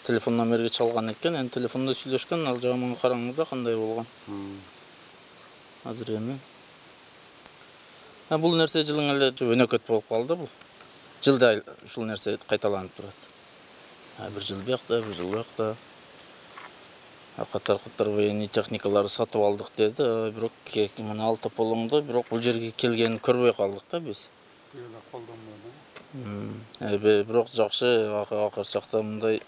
телефон номерге чалган экен, эми телефондо сүйлөшкөн, ал жагы мага караңгы кандай болгон. Азыр эми бул нерсе жылың эле өнөкөт болуп калды бул. Жылда ушул нерсе кайталанып турат. Бир жыл биякта, бир жыл биякта. Катар военный техникаларды сатып алдык деди, бирок мына ал тополоңдо, бирок бул жерге келгенин көрбөй калдык да биз. Бирок жакшы акыр чакта мындай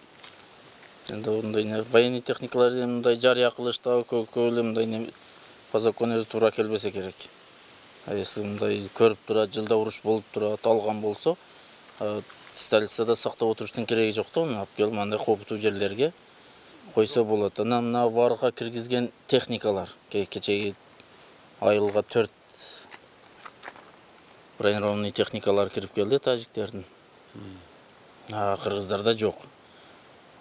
военный техникаларды мындай жарыя кылыштагы көп эле мындай по закону өзү туура келбесе керек. Если мындай көрүп турат, жылда уруш болуп турат, алган болсо, столицада сактап отуруштун кереги жок да, алып келип мындай кооптуу жерлерге койсо болот. Анан мына варга киргизген техникалар кечеги айылга 4 бронированный техникалар кирип келди тажиктердин. Кыргыздарда жок.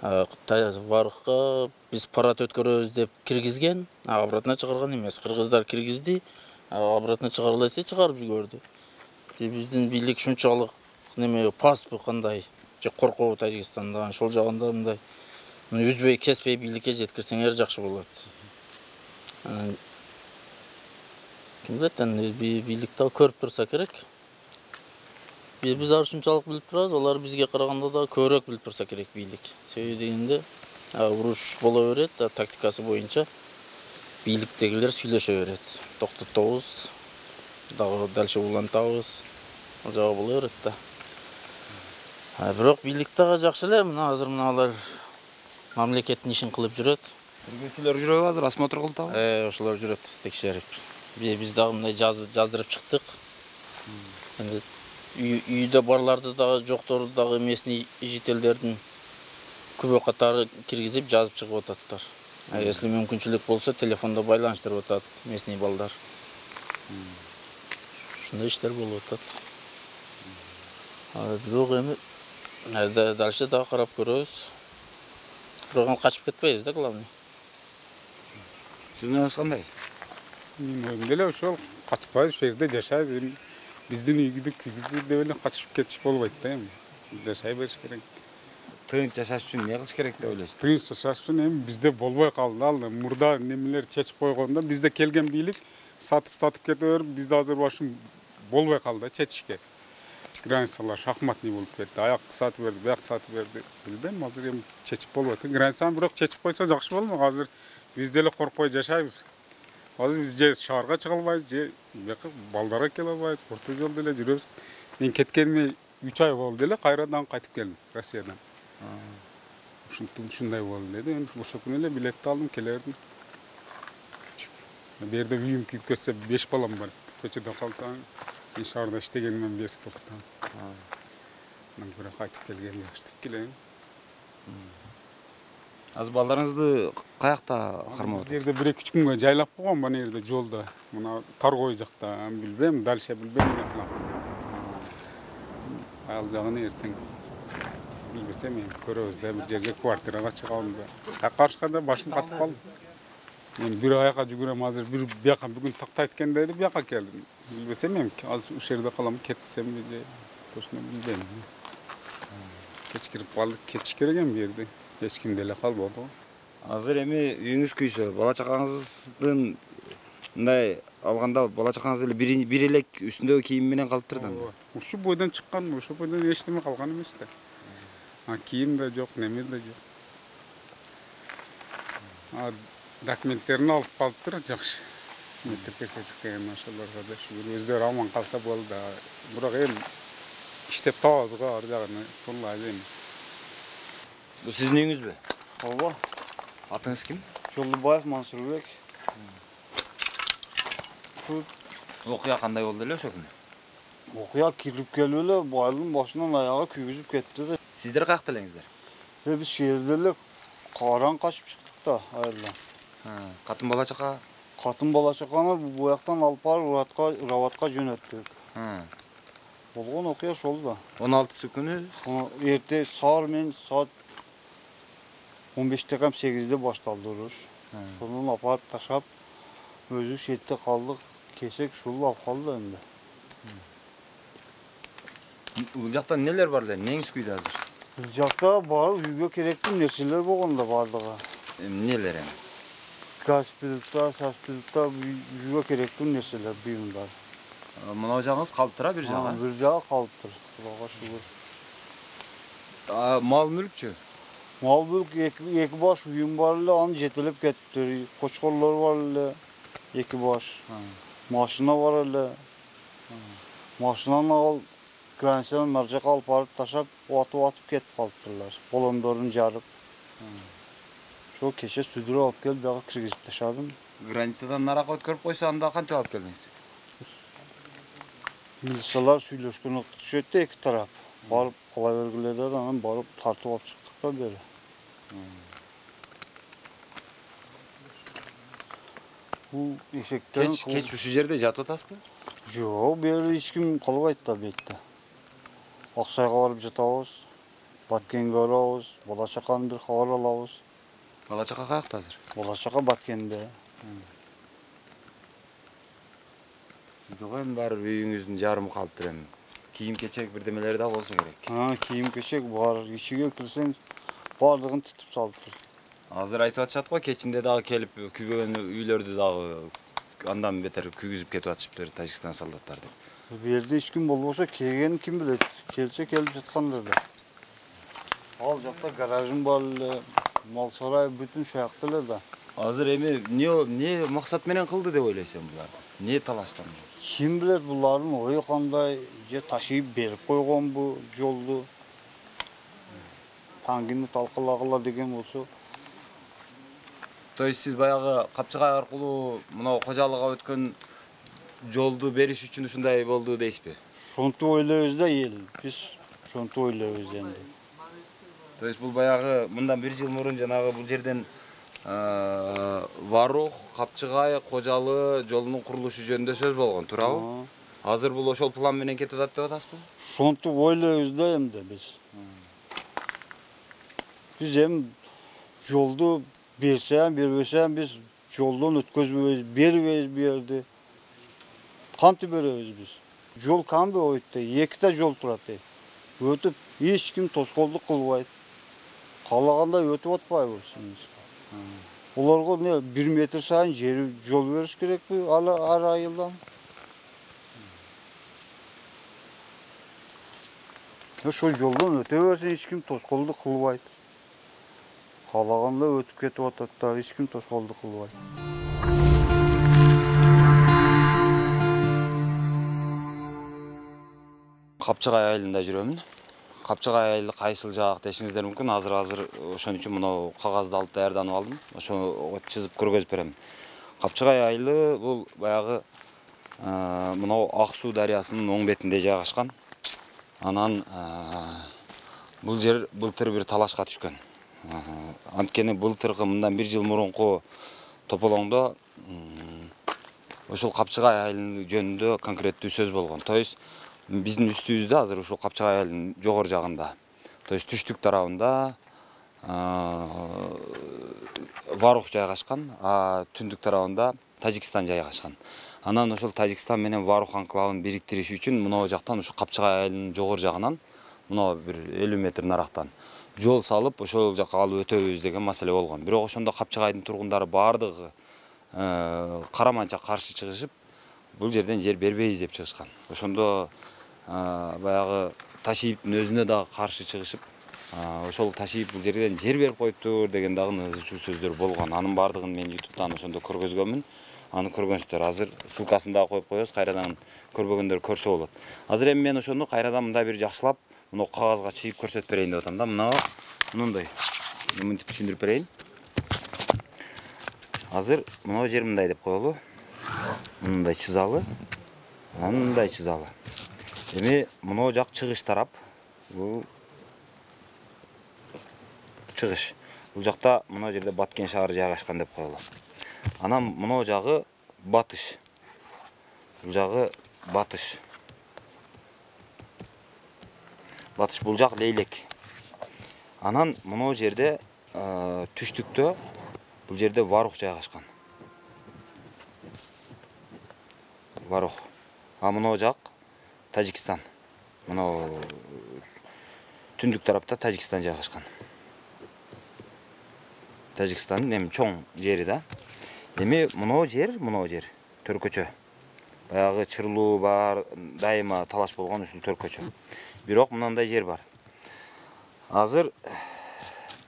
Варга биз парад өткөрөбүз деп киргизген, обратно чыгарган эмес. Кыргыздар киргизди, обратно чыгаргыла десе чыгарып жиберди. Биздин бийлик шунчалык неме паспы кандай, же коркобу Тажикстанда, ошол жагында мындай үзбөй кеспей бийликке жеткирсеңер жакшы болот. Ким билет, бийликте көрүп турса керек. Биз ушунчалык билип турабыз, алар бизге караганда да көбүрөөк билип турса керек бийлик. Себеби дегенде уруш боло берет, тактикасы боюнча бийликтегилер сүйлөшө берет. Токтотобуз, дагы дальше улантабыз. Ал жагы боло берет да. Бирок бийлик дагы жакшы эле, мына азыр алар мамлекеттин ишин кылып жүрөт. Тергөөчүлөр жүрөбү азыр осмотр кылдыбы? Ошолор жүрөт текшерип. Биз дагы мындай жаздырып чыктык. Эми үйдө барларды дагы жокторду дагы местный жителдердин күбө катары киргизип жазып чыгып ататтар. Если мүмкүнчүлүк болсо телефондо байланыштырып атат местный балдар. Ушундай иштер болуп атат. Бирок эми дальше дагы карап көрөбүз. Бирок качып кетпейбиз да, главный. Сиздин оюңуз кандай? Менин оюм деле ошол, качпайбыз, ошол жерде жашайбыз. Биздин үйдү киргизди деп эле качып кетиш болбойт да эми. Жашай бериш керек. Тынч жашаш үчүн эмне кылыш керек деп ойлойсуз? Тынч жашаш үчүн эми бизде болбой калды. Ал мурда немелер чечип койгондо бизде келген бийлик сатып кете берип, бизде азыр башым болбой калды чечишке. Границалар шахматный болуп кетти. Аякты сатып берди, буякты сатып берди. Билбейм, азыр эми чечип болбойт. Границаны бирок чечип койсо жакшы болмок. Азыр биз деле коркпой жашайбыз. Азыр биз же шаарга чыга албайбыз, же бияка балдарга келе албайбыз. Орто жолдо эле жүрөбүз. Мен кеткениме 3 ай болду деле, кайрадан кайтып келдим Россиядан. Ушундай болду деди. Эми ошол күнү эле билетти алдым, келердим. Бу жерде үйүм күйүп кетсе 5 балам бар. Көчөдө калсаң, мен шаарда иштегенимден бери токтом. Мен бирок кайтып келгенде баштап келем. Азыр балдарыңызды каякта кармап атасыз? Бу жерде 1-2 күнгө жайлап койгон, мына жерде жолдо. Мына Таргой жакта, билбейм, дальше билбейм эмне кылам. Ал жагын эртең билбесем эми көрөбүз да, бир жерге квартирага чыгабым да. Каршыда башым катып калды. Мен бир аяка жүгүрөм, азыр бир бияка бүгүн тактайт экен деди, бияка келдим. Билбесем эми азыр ушул жерде калам, кетсемби же точно билбейм. Кеч кирип калдык, кетиш керек эми бу жерде. Эч ким деле калбады. Азыр эми үйүңүз күйсө, бала чакаңыздын мындай алганда бала чакаңыз эле бир элек үстүндөгү кийим менен калыптыр да. Ушу бойдон чыккан, ошол бойдон эчтеме калган эмес да. Кийим да жок, неме да жок. Документтерин алып калыптыр, жакшы. Мектепке сертификатын ошолорго да шүгүр өздөрү аман калса болду да. Бирок эми иштеп табабыз го ар жагын, коллай эми. Бул сиздин үйүңүзбү? Ооба. Атыңыз ким? Жолдубаев Мансурбек. Окуя кандай болду эле ошол күнү? Окуя кирип келип эле байлын башынан аяга күйгүзүп кетти да. Сиздер каякта элеңиздер? Биз шээрде эле кааран качып чыктык да айылдан. Катын бала чака? Катын бала чаканы буяктан алып барып Раватка жөнөттүк. Болгон окуя ошол да. 16 күнү Эрте саат 15 кам 8-де башталды уруш. Ошондон апарып ташап, өзү шетте калдык. Кесек ушул алып калды энди. Бул жакта нелер бар эле? Неңиз күйдү азыр? Бул жакта барып үйгө керектүү нерселер болгон да бардыгы. Эмнелер эми? Газ плита, саз плита, үйгө керектүү нерселер, буюмдар. Мына жагыңыз калыптыр, бир жагы? Бир жагы калыптыр. Кудайга шүгүр. Мал мүлкчү? Мал мүлк эки баш үйүм бар эле, аны жетелеп кетти. Кочкорлор бар эле, эки баш. Машина бар эле. Машинаны ал границадан нар жака алып барып ташап, атып кетип калыптырлар. Балондорун жарып. Ошо кеше сүдүрүп алып келип, бияга киргизип ташадым. Границадан наракка өткөрүп койсо, анда кантип алып келдиңиз? Милициялар сүйлөшкөн өтүшөт да эки тарап. Барып ала бергиле да, анан барып тартып алып чыктык да бери. Бул эшектерин Кеч ушул жерде жатып атасызбы? Жок, бери эч ким кылбайт да бетте. Аксайга барып жатабыз. Баткенге барабыз, бала чаканы бир кабар алабыз. Бала чака каякта азыр? Бала чака Баткенде. Сизде го эми баары үйүңүздүн жарымы калыптыр эми. Кийим-кечек бирдемелери да болсо керек. Кийим-кечек бар. Ичиге кирсең бардыгын титип салыптыр. Азыр айтып атышат го, кечинде дагы келип күйбөгөн үйлөрдү дагы андан бетер күйгүзүп кетип атышыптыр Тажикстан солдаттары деп. Бу жерде эч ким болбосо, келгенин ким билет? Келсе келип жаткандыр да. Ал жакта гаражым бар эле, мал сарай бүтүн шаякта эле да. Азыр эми эмне максат менен кылды деп ойлойсуң булар? Эмне талаштан? Ким билет булардын ою кандай, же ташыйып берип койгон бу жолду. Таңгини талкалагыла деген болсо. То есть сиз баягы Капчыгай аркылуу мына кожалыкка өткөн жолду бериш үчүн ушундай болду дейсизби? Шонтип ойлойбуз да эл. Биз шонтип ойлойбуз энди. То есть бул баягы мындан 1 жыл мурун жанагы бул жерден Варух, Капчыгай, Кожалы жолунун курулушу жөнүндө сөз болгон, туурабы? Азыр бул ошол план менен кетип атат деп атасызбы? Шонтип ойлойбуз да эмди биз. Биз эми жолду берсем, бербесем биз жолдон өткөзбөйбүз, бербейбиз бу жерди. Кантип беребиз биз? Жол камбы ойт, 2 жол турат. Өтүп эч ким тоскоолдук кылбайт. Каалагандай өтүп атпайбыз. Олорго не 1 метр сайын жол бериш керекпи ар айылдан? Ошол жолдон өтө берсе эч ким тоскоолдук кылбайт. Каалагандай өтүп кетип атат да, эч ким тоскоолдук кылбайт. Капчыгай айылында жүрөмүн. Капчыгай айылы кайсыл жак дешиңиздер мүмкүн. Азыр ошон үчүн мына кагазды алып даярданып алдым. Ошого чызып көргөзүп берем. Капчыгай айылы бул баягы мына Ак суу дарыясынын оң бетинде жайгашкан. Анан бул жер былтыр бир талашка түшкөн. Анткени былтыркы мындан 1 жыл мурунку тополоңдо ошол Капчыгай айылы жөнүндө конкреттүү сөз болгон. То есть биздин үстүбүздө азыр ушул Капчыгай айылынын жогору жагында, то есть түштүк тарабында Варух жайгашкан, а түндүк тарабында Тажикстан жайгашкан. Анан ошол Тажикстан менен Варух анклавын бириктириш үчүн мына жактан ушу Капчыгай айылынын жогору жагынан мына бир 50 метр нарактан жол салып ошол жакка алып өтөбүз деген маселе болгон. Бирок ошондо Капчыгайдын тургундары бардыгы караманча каршы чыгышып, бул жерден жер бербейбиз деп чыгышкан. Ошондо баягы Ташиевдин өзүнө дагы каршы чыгышып, ошол Ташиев бул жерден жер берип коюптур деген дагы ызычуу сөздөр болгон. Анын бардыгын мен YouTube'дан ошондо көргөзгөнмүн. Аны көргөнсүздөр. Азыр ссылкасын дагы коюп коебуз, кайрадан көрбөгөндөр көрсө болот. Азыр эми мен ошону кайрадан мындай бир жакшылап, мына кагазга чыйып көрсөтүп берейин деп атам да. Мындай. Мынтип түшүндүрүп берейин. Азыр мына жер мындай деп коелу. Мындай чызалы. Мындай чызалы. Эми мына жак чыгыш тарап. Бул чыгыш. Бул жакта мына жерде Баткен шаары жайгашкан деп коелу. Анан мына жагы батыш. Бул жагы батыш. Батыш бул жак Лейлек. Анан мына жерде түштүктө бул жерде Варух жайгашкан. Варух. А мына жак Тажикстан. Мына түндүк тарапта Тажикстан жайгашкан. Тажикстандын эми чоң жери да. Эми мына жер төркөчө. Баягы чырлуу бар, дайыма талаш болгон ушул төркөчө. Бирок мындай жер бар. Азыр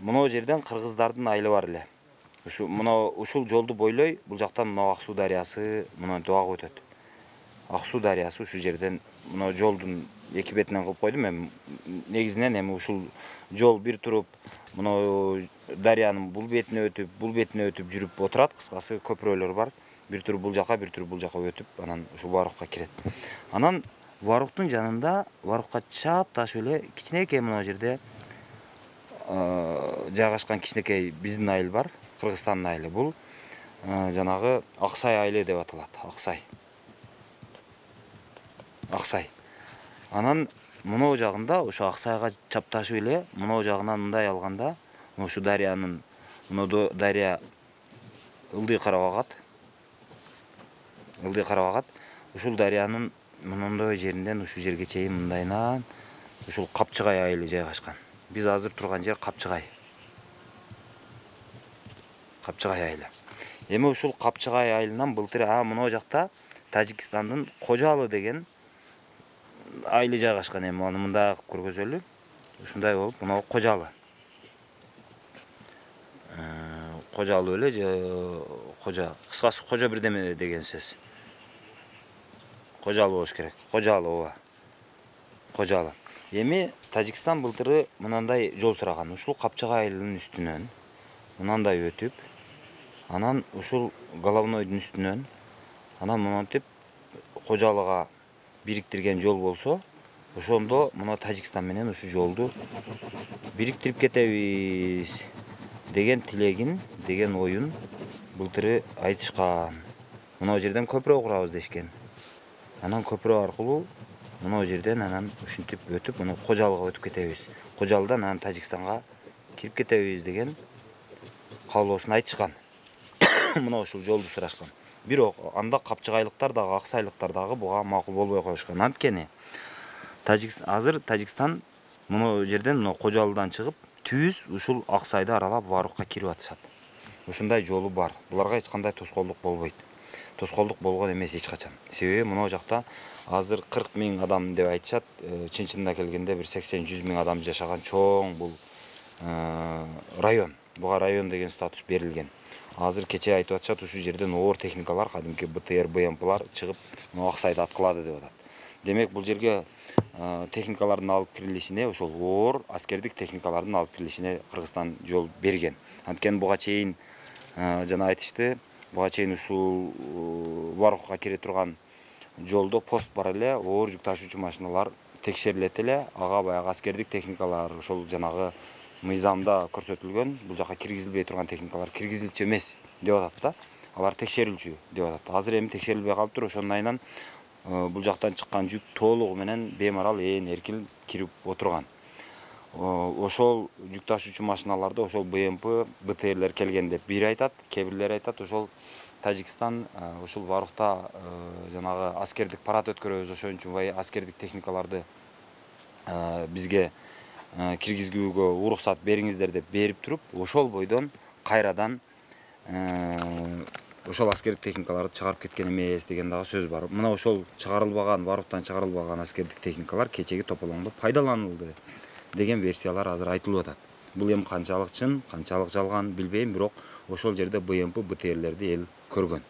мына жерден кыргыздардын айылы бар эле. Ушул жолду бойлой бул жактан мына Ак суу дарыясы мына дагы өтөт. Ак суу дарыясы ушул жерден мына жолдун эки бетинен кылып койдум. Эми негизинен эми ушул жол бир туруп мына дарыянын бул бетине өтүп жүрүп отурат. Кыскасы көпүрөлөр бар. Бир туруп бул жака өтүп, анан ушу Варухка кирет. Анан Варухтун жанында, Варухка чапташ эле кичинекей мына жерде жайгашкан кичинекей биздин айыл бар, Кыргызстандын айылы. Бул жанагы Аксай айылы деп аталат. Аксай. Анан мынау жагында ошо Аксайга чапташып эле мынау жагынан мындай алганда ушу дарыянын мынау дарыя ылдый карап агат. Ушул дарыянын мындай жеринден ушу жерге чейин мындайынан ушул Капчыгай айылы жайгашкан. Биз азыр турган жер Капчыгай айылы. Эми ушул Капчыгай айылынан былтыр мынау жакта Тажикстандын Кожалы деген айылы жайгашкан. Эми аны мындай кылып көргөзөлү. Ушундай болуп, мынау Кожалы. Кожалы эле же Кожа, кыскасы Кожа бирдеме деген сөз. Кожалы болуш керек. Кожалы. Эми Тажикстан былтыры мынандай жол сураган. Ушул Капчыгай айылынын үстүнөн мынандай өтүп, анан ушул головнойдун үстүнөн анан мынтип Кожалыга бириктирген жол болсо, ошондо мына Тажикстан менен ушу жолду бириктирип кетебиз деген тилегин, деген оюн былтыры айтышкан. Мына жерден көпүрө курабыз дешкен. Анан көпүрө аркылуу мына жерден анан ушинтип өтүп, мына Кожалыга өтүп кетебиз. Кожалыдан анан Тажикстанга кирип кетебиз деген каалоосун айтышкан. Мына ушул жолду сурашкан. Бирок анда Капчыгайлыктар дагы, Аксайлыктар дагы буга макул болбой коюшкан. Анткени азыр Тажикстан мына жерден мына Кожалыдан чыгып, түз ушул Аксайды аралап Варукка кирип атышат. Ушундай жолу бар. Буларга эч кандай тоскоолдук болбойт. Тоскоолдук болгон эмес эч качан. Себеби мына жакта азыр 40 000 адам деп айтышат. Чын-чынына келгенде бир 80-100 000 адам жашаган чоң бул район. Буга район деген статус берилген. Азыр кече айтып атышат, ушу жерден оор техникалар, кадимки БТР, БМПлар чыгып, Аксайды аткылады деп атат. Демек, бул жерге техникалардын алып кирилишине, ошол оор аскердик техникалардын алып кирилишине Кыргызстан жол берген. Анткени буга чейин жана айтышты, буга чейин ушул Варукка кире турган жолдо пост бар эле, оор жүк ташуучу машиналар текшерилет эле, ага баягы аскердик техникалар, ошол жанагы мыйзамда көрсөтүлгөн, бул жака киргизилбей турган техникалар киргизилчү эмес деп атат да. Алар текшерилчү деп атат. Азыр эми текшерилбей калыптыр, ошонун айынан бул жактан чыккан жүк толугу менен беймарал эркин кирип отурган. Ошол жүк ташуучу машиналарды ошол БМП, БТРлер келген деп бири айтат, кээ бирлери айтат, ошол Тажикстан ушул Варукта жанагы аскердик парад өткөрөбүз, ошон үчүн аскердик техникаларды бизге киргизүүгө уруксат бериңиздер деп берип туруп, ошол бойдон кайрадан ошол аскердик техникаларды чыгарып кеткен эмес деген дагы сөз бар. Мына ошол чыгарылбаган, Варуктан чыгарылбаган аскердик техникалар кечеги тополоңдо пайдаланылды деген версиялар азыр айтылып атат. Бул эми канчалык чын, канчалык жалган билбейм, бирок ошол жерде БМП, БТРлерди эл көргөн.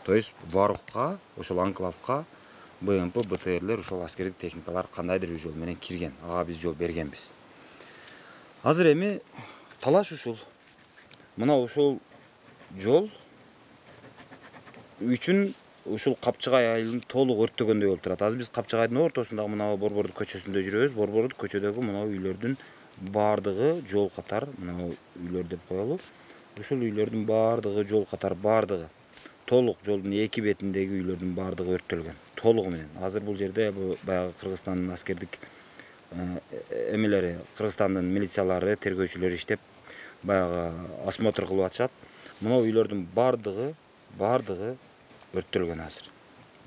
То есть Варукка, ошол анклавка БМП, БТРлер, ошол аскердик техникалар кандайдыр бир жол менен кирген. Ага биз жол бергенбиз. Азыр эми талаш ушул. Мына ушул жол үчүн ушул Капчыгай айылын толук өрттөгөндөй болуп турат. Азыр биз Капчыгайдын ортосундагы мына Борбордук көчөсүндө жүрөбүз. Борбордук көчөдөгү мына үйлөрдүн бардыгы жол катар, мына үйлөр деп коелу. Ушул үйлөрдүн бардыгы жол катар бардыгы толук жолдун эки бетиндеги үйлөрдүн бардыгы өрттөлгөн. Толугу менен. Азыр бул жерде баягы Кыргызстандын аскердик эмелери, Кыргызстандын милициялары, тергөөчүлөрү иштеп, баягы осмотр кылып атышат. Мына үйлөрдүн бардыгы өрттөлгөн азыр.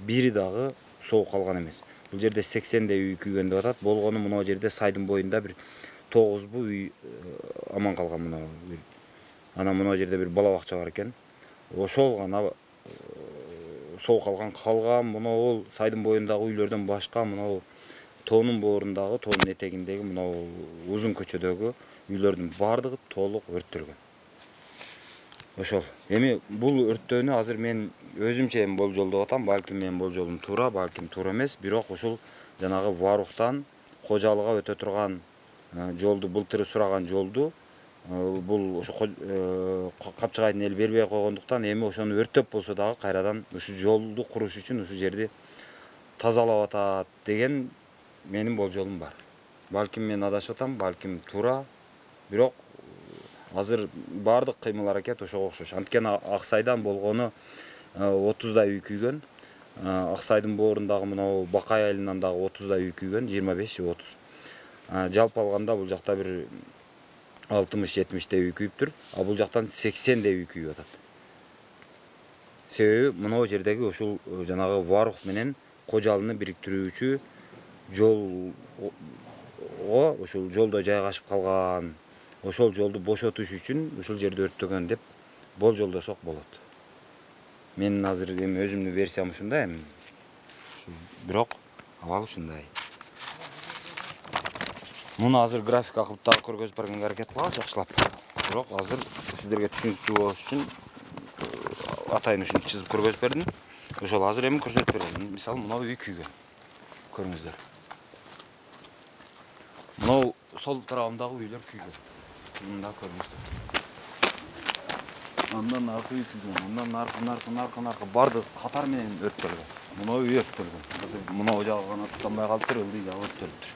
Бири дагы соо калган эмес. Бул жерде 80 үй күйгөн деп атат. Болгону мына жерде сайдын боюнда бир 9 үй аман калган мына. Анан мына жерде бир бала бакча бар экен. Ошол гана соо калган мына ол сайдын боюндагы үйлөрдөн башка мына тоонун боорундагы, тоонун этегиндеги мына узун көчөдөгү үйлөрдүн бардыгы толук өрттөлгөн. Ошол. Эми бул өрттөөнү азыр мен өзүмчө болжолдоп атам. Балким менин болжолум туура, балким туура эмес. Бирок ушул жанагы Варуктан Кожалыга өтө турган жолду, былтыры сураган жолду бул ошо Капчыгайдын эл бербей койгондуктан эми ошону өрттөп болсо дагы кайрадан ушу жолду куруш үчүн ушу жерди тазалап атат деген менин болжолум бар. Балким мен адашып атам, балким туура. Бирок Азыр баардык кыймыл аракет ошого окшош. Анткени Аксайдан болгону 30дай үй күйгөн. Аксайдын боорундагы мына Бакай айылынан дагы 30дай үй күйгөн, 25 же 30. Жалпы алганда бул жакта бир 60-70дей үй күйүптүр. Бул жактан 80дей үй күйүп атат. Себеби мына жердеги ушул жанагы Варух менен Кожалыны бириктирүүчү жолго ушул жолдо жайгашып калган. Ошол жолду бошотуш үчүн ушул жерди өрттөгөн деп болжолдосок болот. Менин азыр эми өзүмдүн версиям ушундай эми. Бирок абал ушундай. Муну азыр графика кылып дагы көргөзүп бергенге аракет кылабыз жакшылап. Бирок азыр сиздерге түшүнүктүү болуш үчүн атайын ушинтип чызып көргөзүп бердим. Ошол азыр эми көрсөтүп берем. Мисалы мына үй күйгөн. Көрүңүздөр. Мына сол тарабындагы үйлөр күйгөн. Мында көрүңүздөр. Андан аркы үй күйгөн. Андан аркы бардык катар менен өрттөлгөн. Мына үй өрттөлгөн. Мына жагы гана туттанбай калыптыр, ылдый жагы өрттөлүптүр.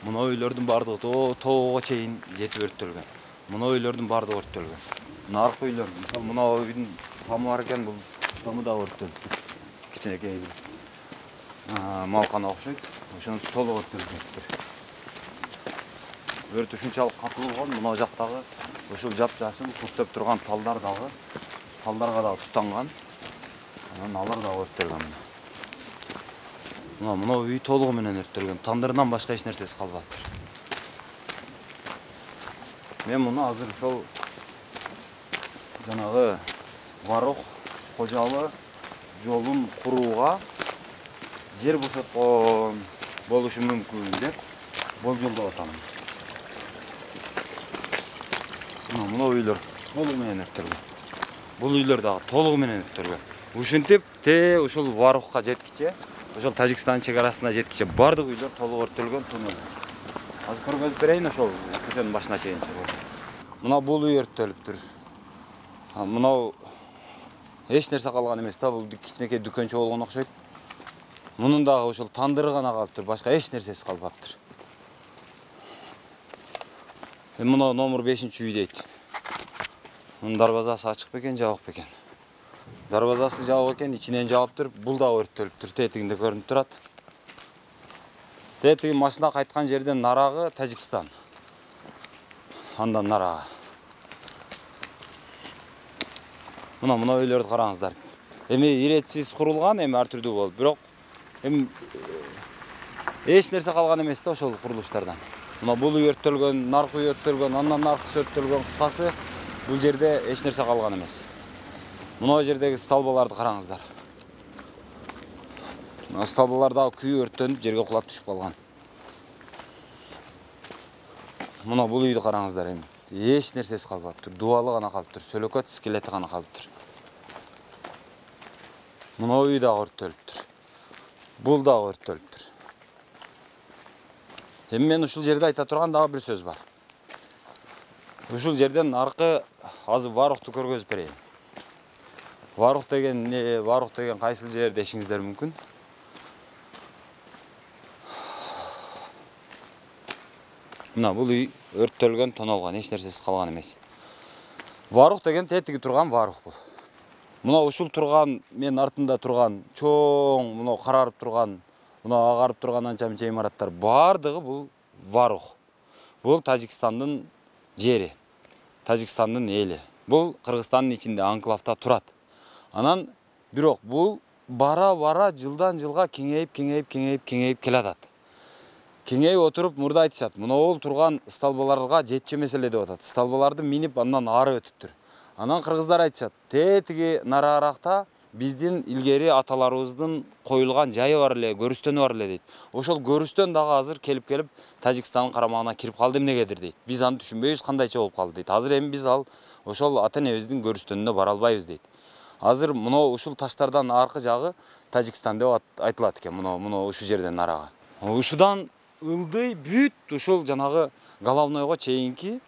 Мына үйлөрдүн бардыгы тоого чейин жетип өрттөлгөн. Мына үйлөрдүн бардыгы өрттөлгөн. Мына аркы үйлөр, мисалы мына үйдүн тамы бар экен, бул тамы да өрттөлүптүр. Кичинекей бир малкана окшойт. Ошонусу толук өрттөлгөнтүр. Өрт ушунчалык катуу болгон, мына жактагы ушул жап-жашыл көктөп турган талдар дагы, талдарга дагы туттанган. Анан алар дагы өрттөлгөн. Мына үй толугу менен өрттөлгөн. Тандырынан башка эч нерсеси калбаптыр. Мен муну азыр ошол жанагы Варух Кожалы жолун курууга жер бошоткон болушу мүмкүн деп болжолдоп атам. Мына үйлөр толугу менен өрттөлгөн. Бул үйлөр дагы толугу менен өрттөлгөн. Ушинтип ушул Варухка жеткиче, ошол Тажикстан чегарасына жеткиче бардык үйлөр толук өрттөлгөн туннел. Азыр көргөзүп берейин ошол көчөнүн башына чейин. Мына бул үй өрттөлүптүр. Мына эч нерсе калган эмес да, бул кичинекей дүкөнчө болгон окшойт. Мунун дагы ошол тандыры гана калыптыр, башка эч нерсеси калбаптыр. Мына номер 5-үй дейт. Мунун дарбазасы ачык бекен, жабык бекен. Дарбазасы жабык экен, ичинен жабыптыр. Бул да өрттөлүптүр, тетигинде көрүнүп турат. Тетиги машина кайткан жерден нарагы Тажикстан. Андан нарагы. Мына үйлөрдү караңыздар. Эми иретсиз курулган, эми ар түрдүү болуп, бирок эми эч нерсе калган эмес да ошол курулуштардан. Мына бул үй өрттөлгөн, наркы үй өрттөлгөн, андан наркысы өрттөлгөн, кыскасы бул жерде эч нерсе калган эмес. Мына жердеги столбаларды караңыздар. Мына столбалар дагы күйүп өрттөнүп жерге кулап түшүп калган. Мына бул үйдү караңыздар эми. Эч нерсеси калбаптыр. Дубалы гана калыптыр, сөлөкөт скелети гана калыптыр. Мына үй дагы өрттөлүптүр. Бул дагы өрттөлүптүр. Эми мен ушул жерде айта турган дагы бир сөз бар. Ушул жерден аркы азыр Варухту көргөзүп берейин. Варух деген эмне, Варух деген кайсыл жер дешиңиздер мүмкүн. Мына бул үй өрттөлгөн, тонолгон, эч нерсеси калган эмес. Варух деген тетиги турган Варух бул. Мына ушул турган, мен артында турган чоң, мына карарып турган, мына агарып турган анча-мынча имараттар бардыгы бул Варух. Бул Тажикстандын жери, Тажикстандын эли. Бул Кыргызстандын ичинде анклавда турат. Анан бирок бул бара-бара жылдан жылга кеңейип келатат. Кеңейип отуруп мурда айтышат, мына ол турган столбаларга жетчү маселе деп атат. Столбаларды минип андан ары өтүптүр. Анан кыргыздар айтышат, тетиги нарааракта биздин илгери аталарыбыздын коюлган жайы бар эле, көрүстөнү бар эле дейт. Ошол көрүстөн дагы азыр келип Тажикстандын карамагына кирип калды эмнегедир дейт. Биз аны түшүнбөйбүз, кандайча болуп калды дейт. Азыр эми биз ошол ата-энебиздин көрүстөнүнө бара албайбыз дейт. Азыр мына ушул таштардан аркы жагы Тажикстан деп айтылат экен, мына ушул жерден нарага. Ушудан ылдый бүт ушул жанагы головнойго чейинки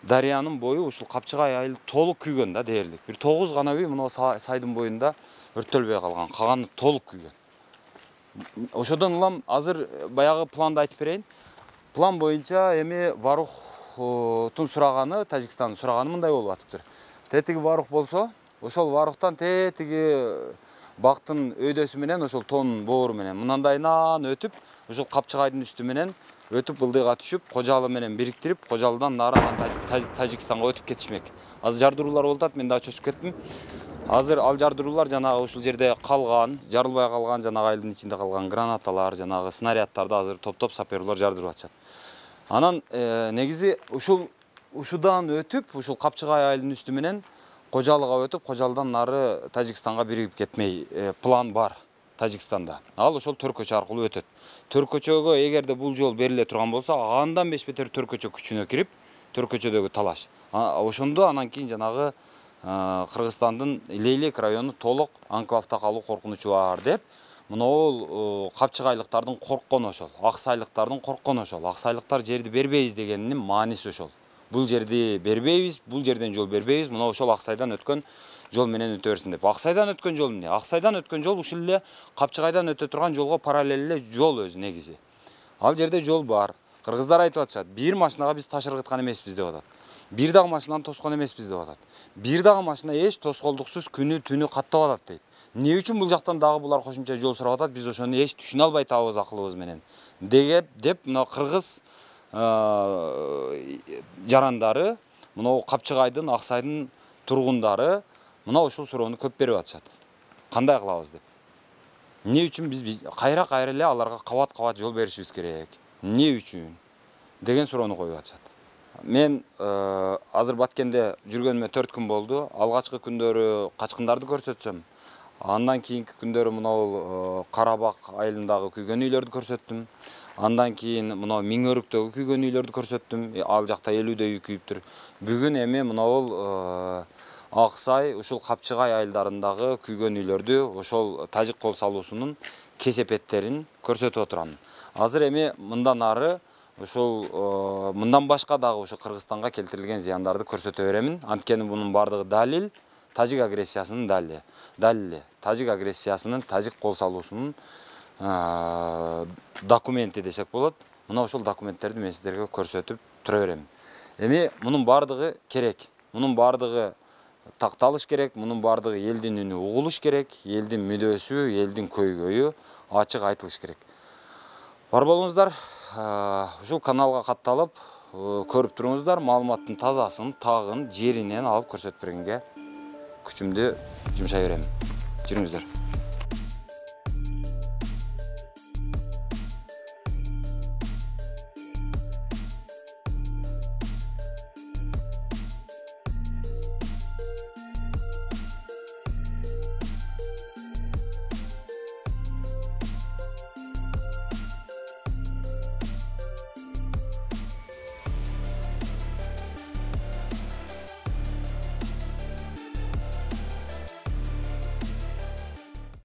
дарыянын бою ушул Капчыгай айыл толук күйгөн да дээрлик. Бир 9 гана үй мына сайдын боюнда өрттөлбөй калган, калганы толук күйгөн. Ошодон улам азыр баягы планды айтып берейин. План боюнча эми Варух Варуктун сураганы, Тажикстандын сураганы мындай болуп атыптыр. Тетиги Варук болсо, ошол Варуктан тетиги бактын өйдөсү менен ошол тоонун боору менен мынандайынан өтүп, ошол Капчыгайдын үстү менен өтүп ылдыйга түшүп, Кожалы менен бириктирип, Кожалыдан нарынан Тажикстанга өтүп кетишмек. Азыр жардыруулар болуп атат, мен да чочуп кеттим. Азыр ал жардыруулар жанагы ушул жерде калган, жарылбай калган, жанагы айылдын ичинде калган гранаталар, жанагы снаряддарды азыр топтоп саперлор жардырып атышат. Анан негизи ушудан өтүп, ушул Капчыгай айылдын үстү менен Кожалыга өтүп, Кожалыдан нары Тажикстанга биригип кетмей план бар Тажикстанда. Ал ошол Төркөчө аркылуу өтөт. Төркөчөгө эгерде бул жол бериле турган болсо, андан бешбетер Төркөчө күчүнө кирип, Төркөчөдөгү талаш. Ошондо анан кийин жанагы Кыргызстандын Лейлек району толук анклавда калуу коркунучу бар деп, могул капчыгайлыктардын корккону ошол, аксайлыктардын корккону ошол. Аксайлыктар жерди бербейбиз дегенинин мааниси ошол. Бул жерди бербейбиз, бул жерден жол бербейбиз, мына ошол Аксайдан өткөн жол менен өтө берсин деп. Аксайдан өткөн жол эмне? Аксайдан өткөн жол ушул эле Капчыгайдан өтө турган жолго параллел эле жол өзү негизи. Ал жерде жол бар. Кыргыздар айтып атышат, бир машинага биз таш ыргыткан эмеспиз деп атат. Бир дагы машинаны тоскон эмеспиз деп атат. Бир дагы машина эч тоскоолдуксуз күнү түнү каттап атат дейт. Эмне үчүн бул жактан дагы булар кошумча жол сурап атат, биз ошону эч түшүнө албай табыз акылыбыз менен. Деп мына кыргыз жарандары, мына Капчыгайдын, Аксайдын тургундары мына ушул суроону көп берип атышат. Кандай кылабыз деп. Эмне үчүн биз кайра эле аларга кабат жол беришибиз керек? Эмне үчүн деген суроону коюп атышат. Мен азыр Баткенде жүргөнүмө 4 күн болду. Алгачкы күндөрү качкындарды көрсөтсөм, андан кийинки күндөрү мына Карабак айылындагы күйгөн үйлөрдү көрсөттүм. Андан кийин мына Миңөрүктөгү күйгөн үйлөрдү көрсөттүм. Ал жакта 50дөй үй күйүптүр. Бүгүн эми мына Аксай, ушул Капчыгай айылдарындагы күйгөн үйлөрдү, ошол тажик кол салуусунун кесепеттерин көрсөтүп отурам. Азыр эми мындан ары ушул мындан башка дагы ошо Кыргызстанга келтирилген зыяндарды көрсөтө беремин. Анткени бунун бардыгы далил тажик агрессиясынын далили. Тажик агрессиясынын, тажик кол салуусунун документи десек болот. Мына ошол документтерди мен сиздерге көрсөтүп тура берем. Эми мунун бардыгы керек. Мунун бардыгы такталыш керек, мунун бардыгы элдин үнү угулуш керек, элдин мүдөөсү, элдин көйгөйү ачык айтылыш керек. Бар болуңуздар, ушул каналга катталып, көрүп туруңуздар, маалыматтын тазасын, тагын жеринен алып көрсөтүп бергенге күчүмдү жумшай берем. Жүрүңүздөр.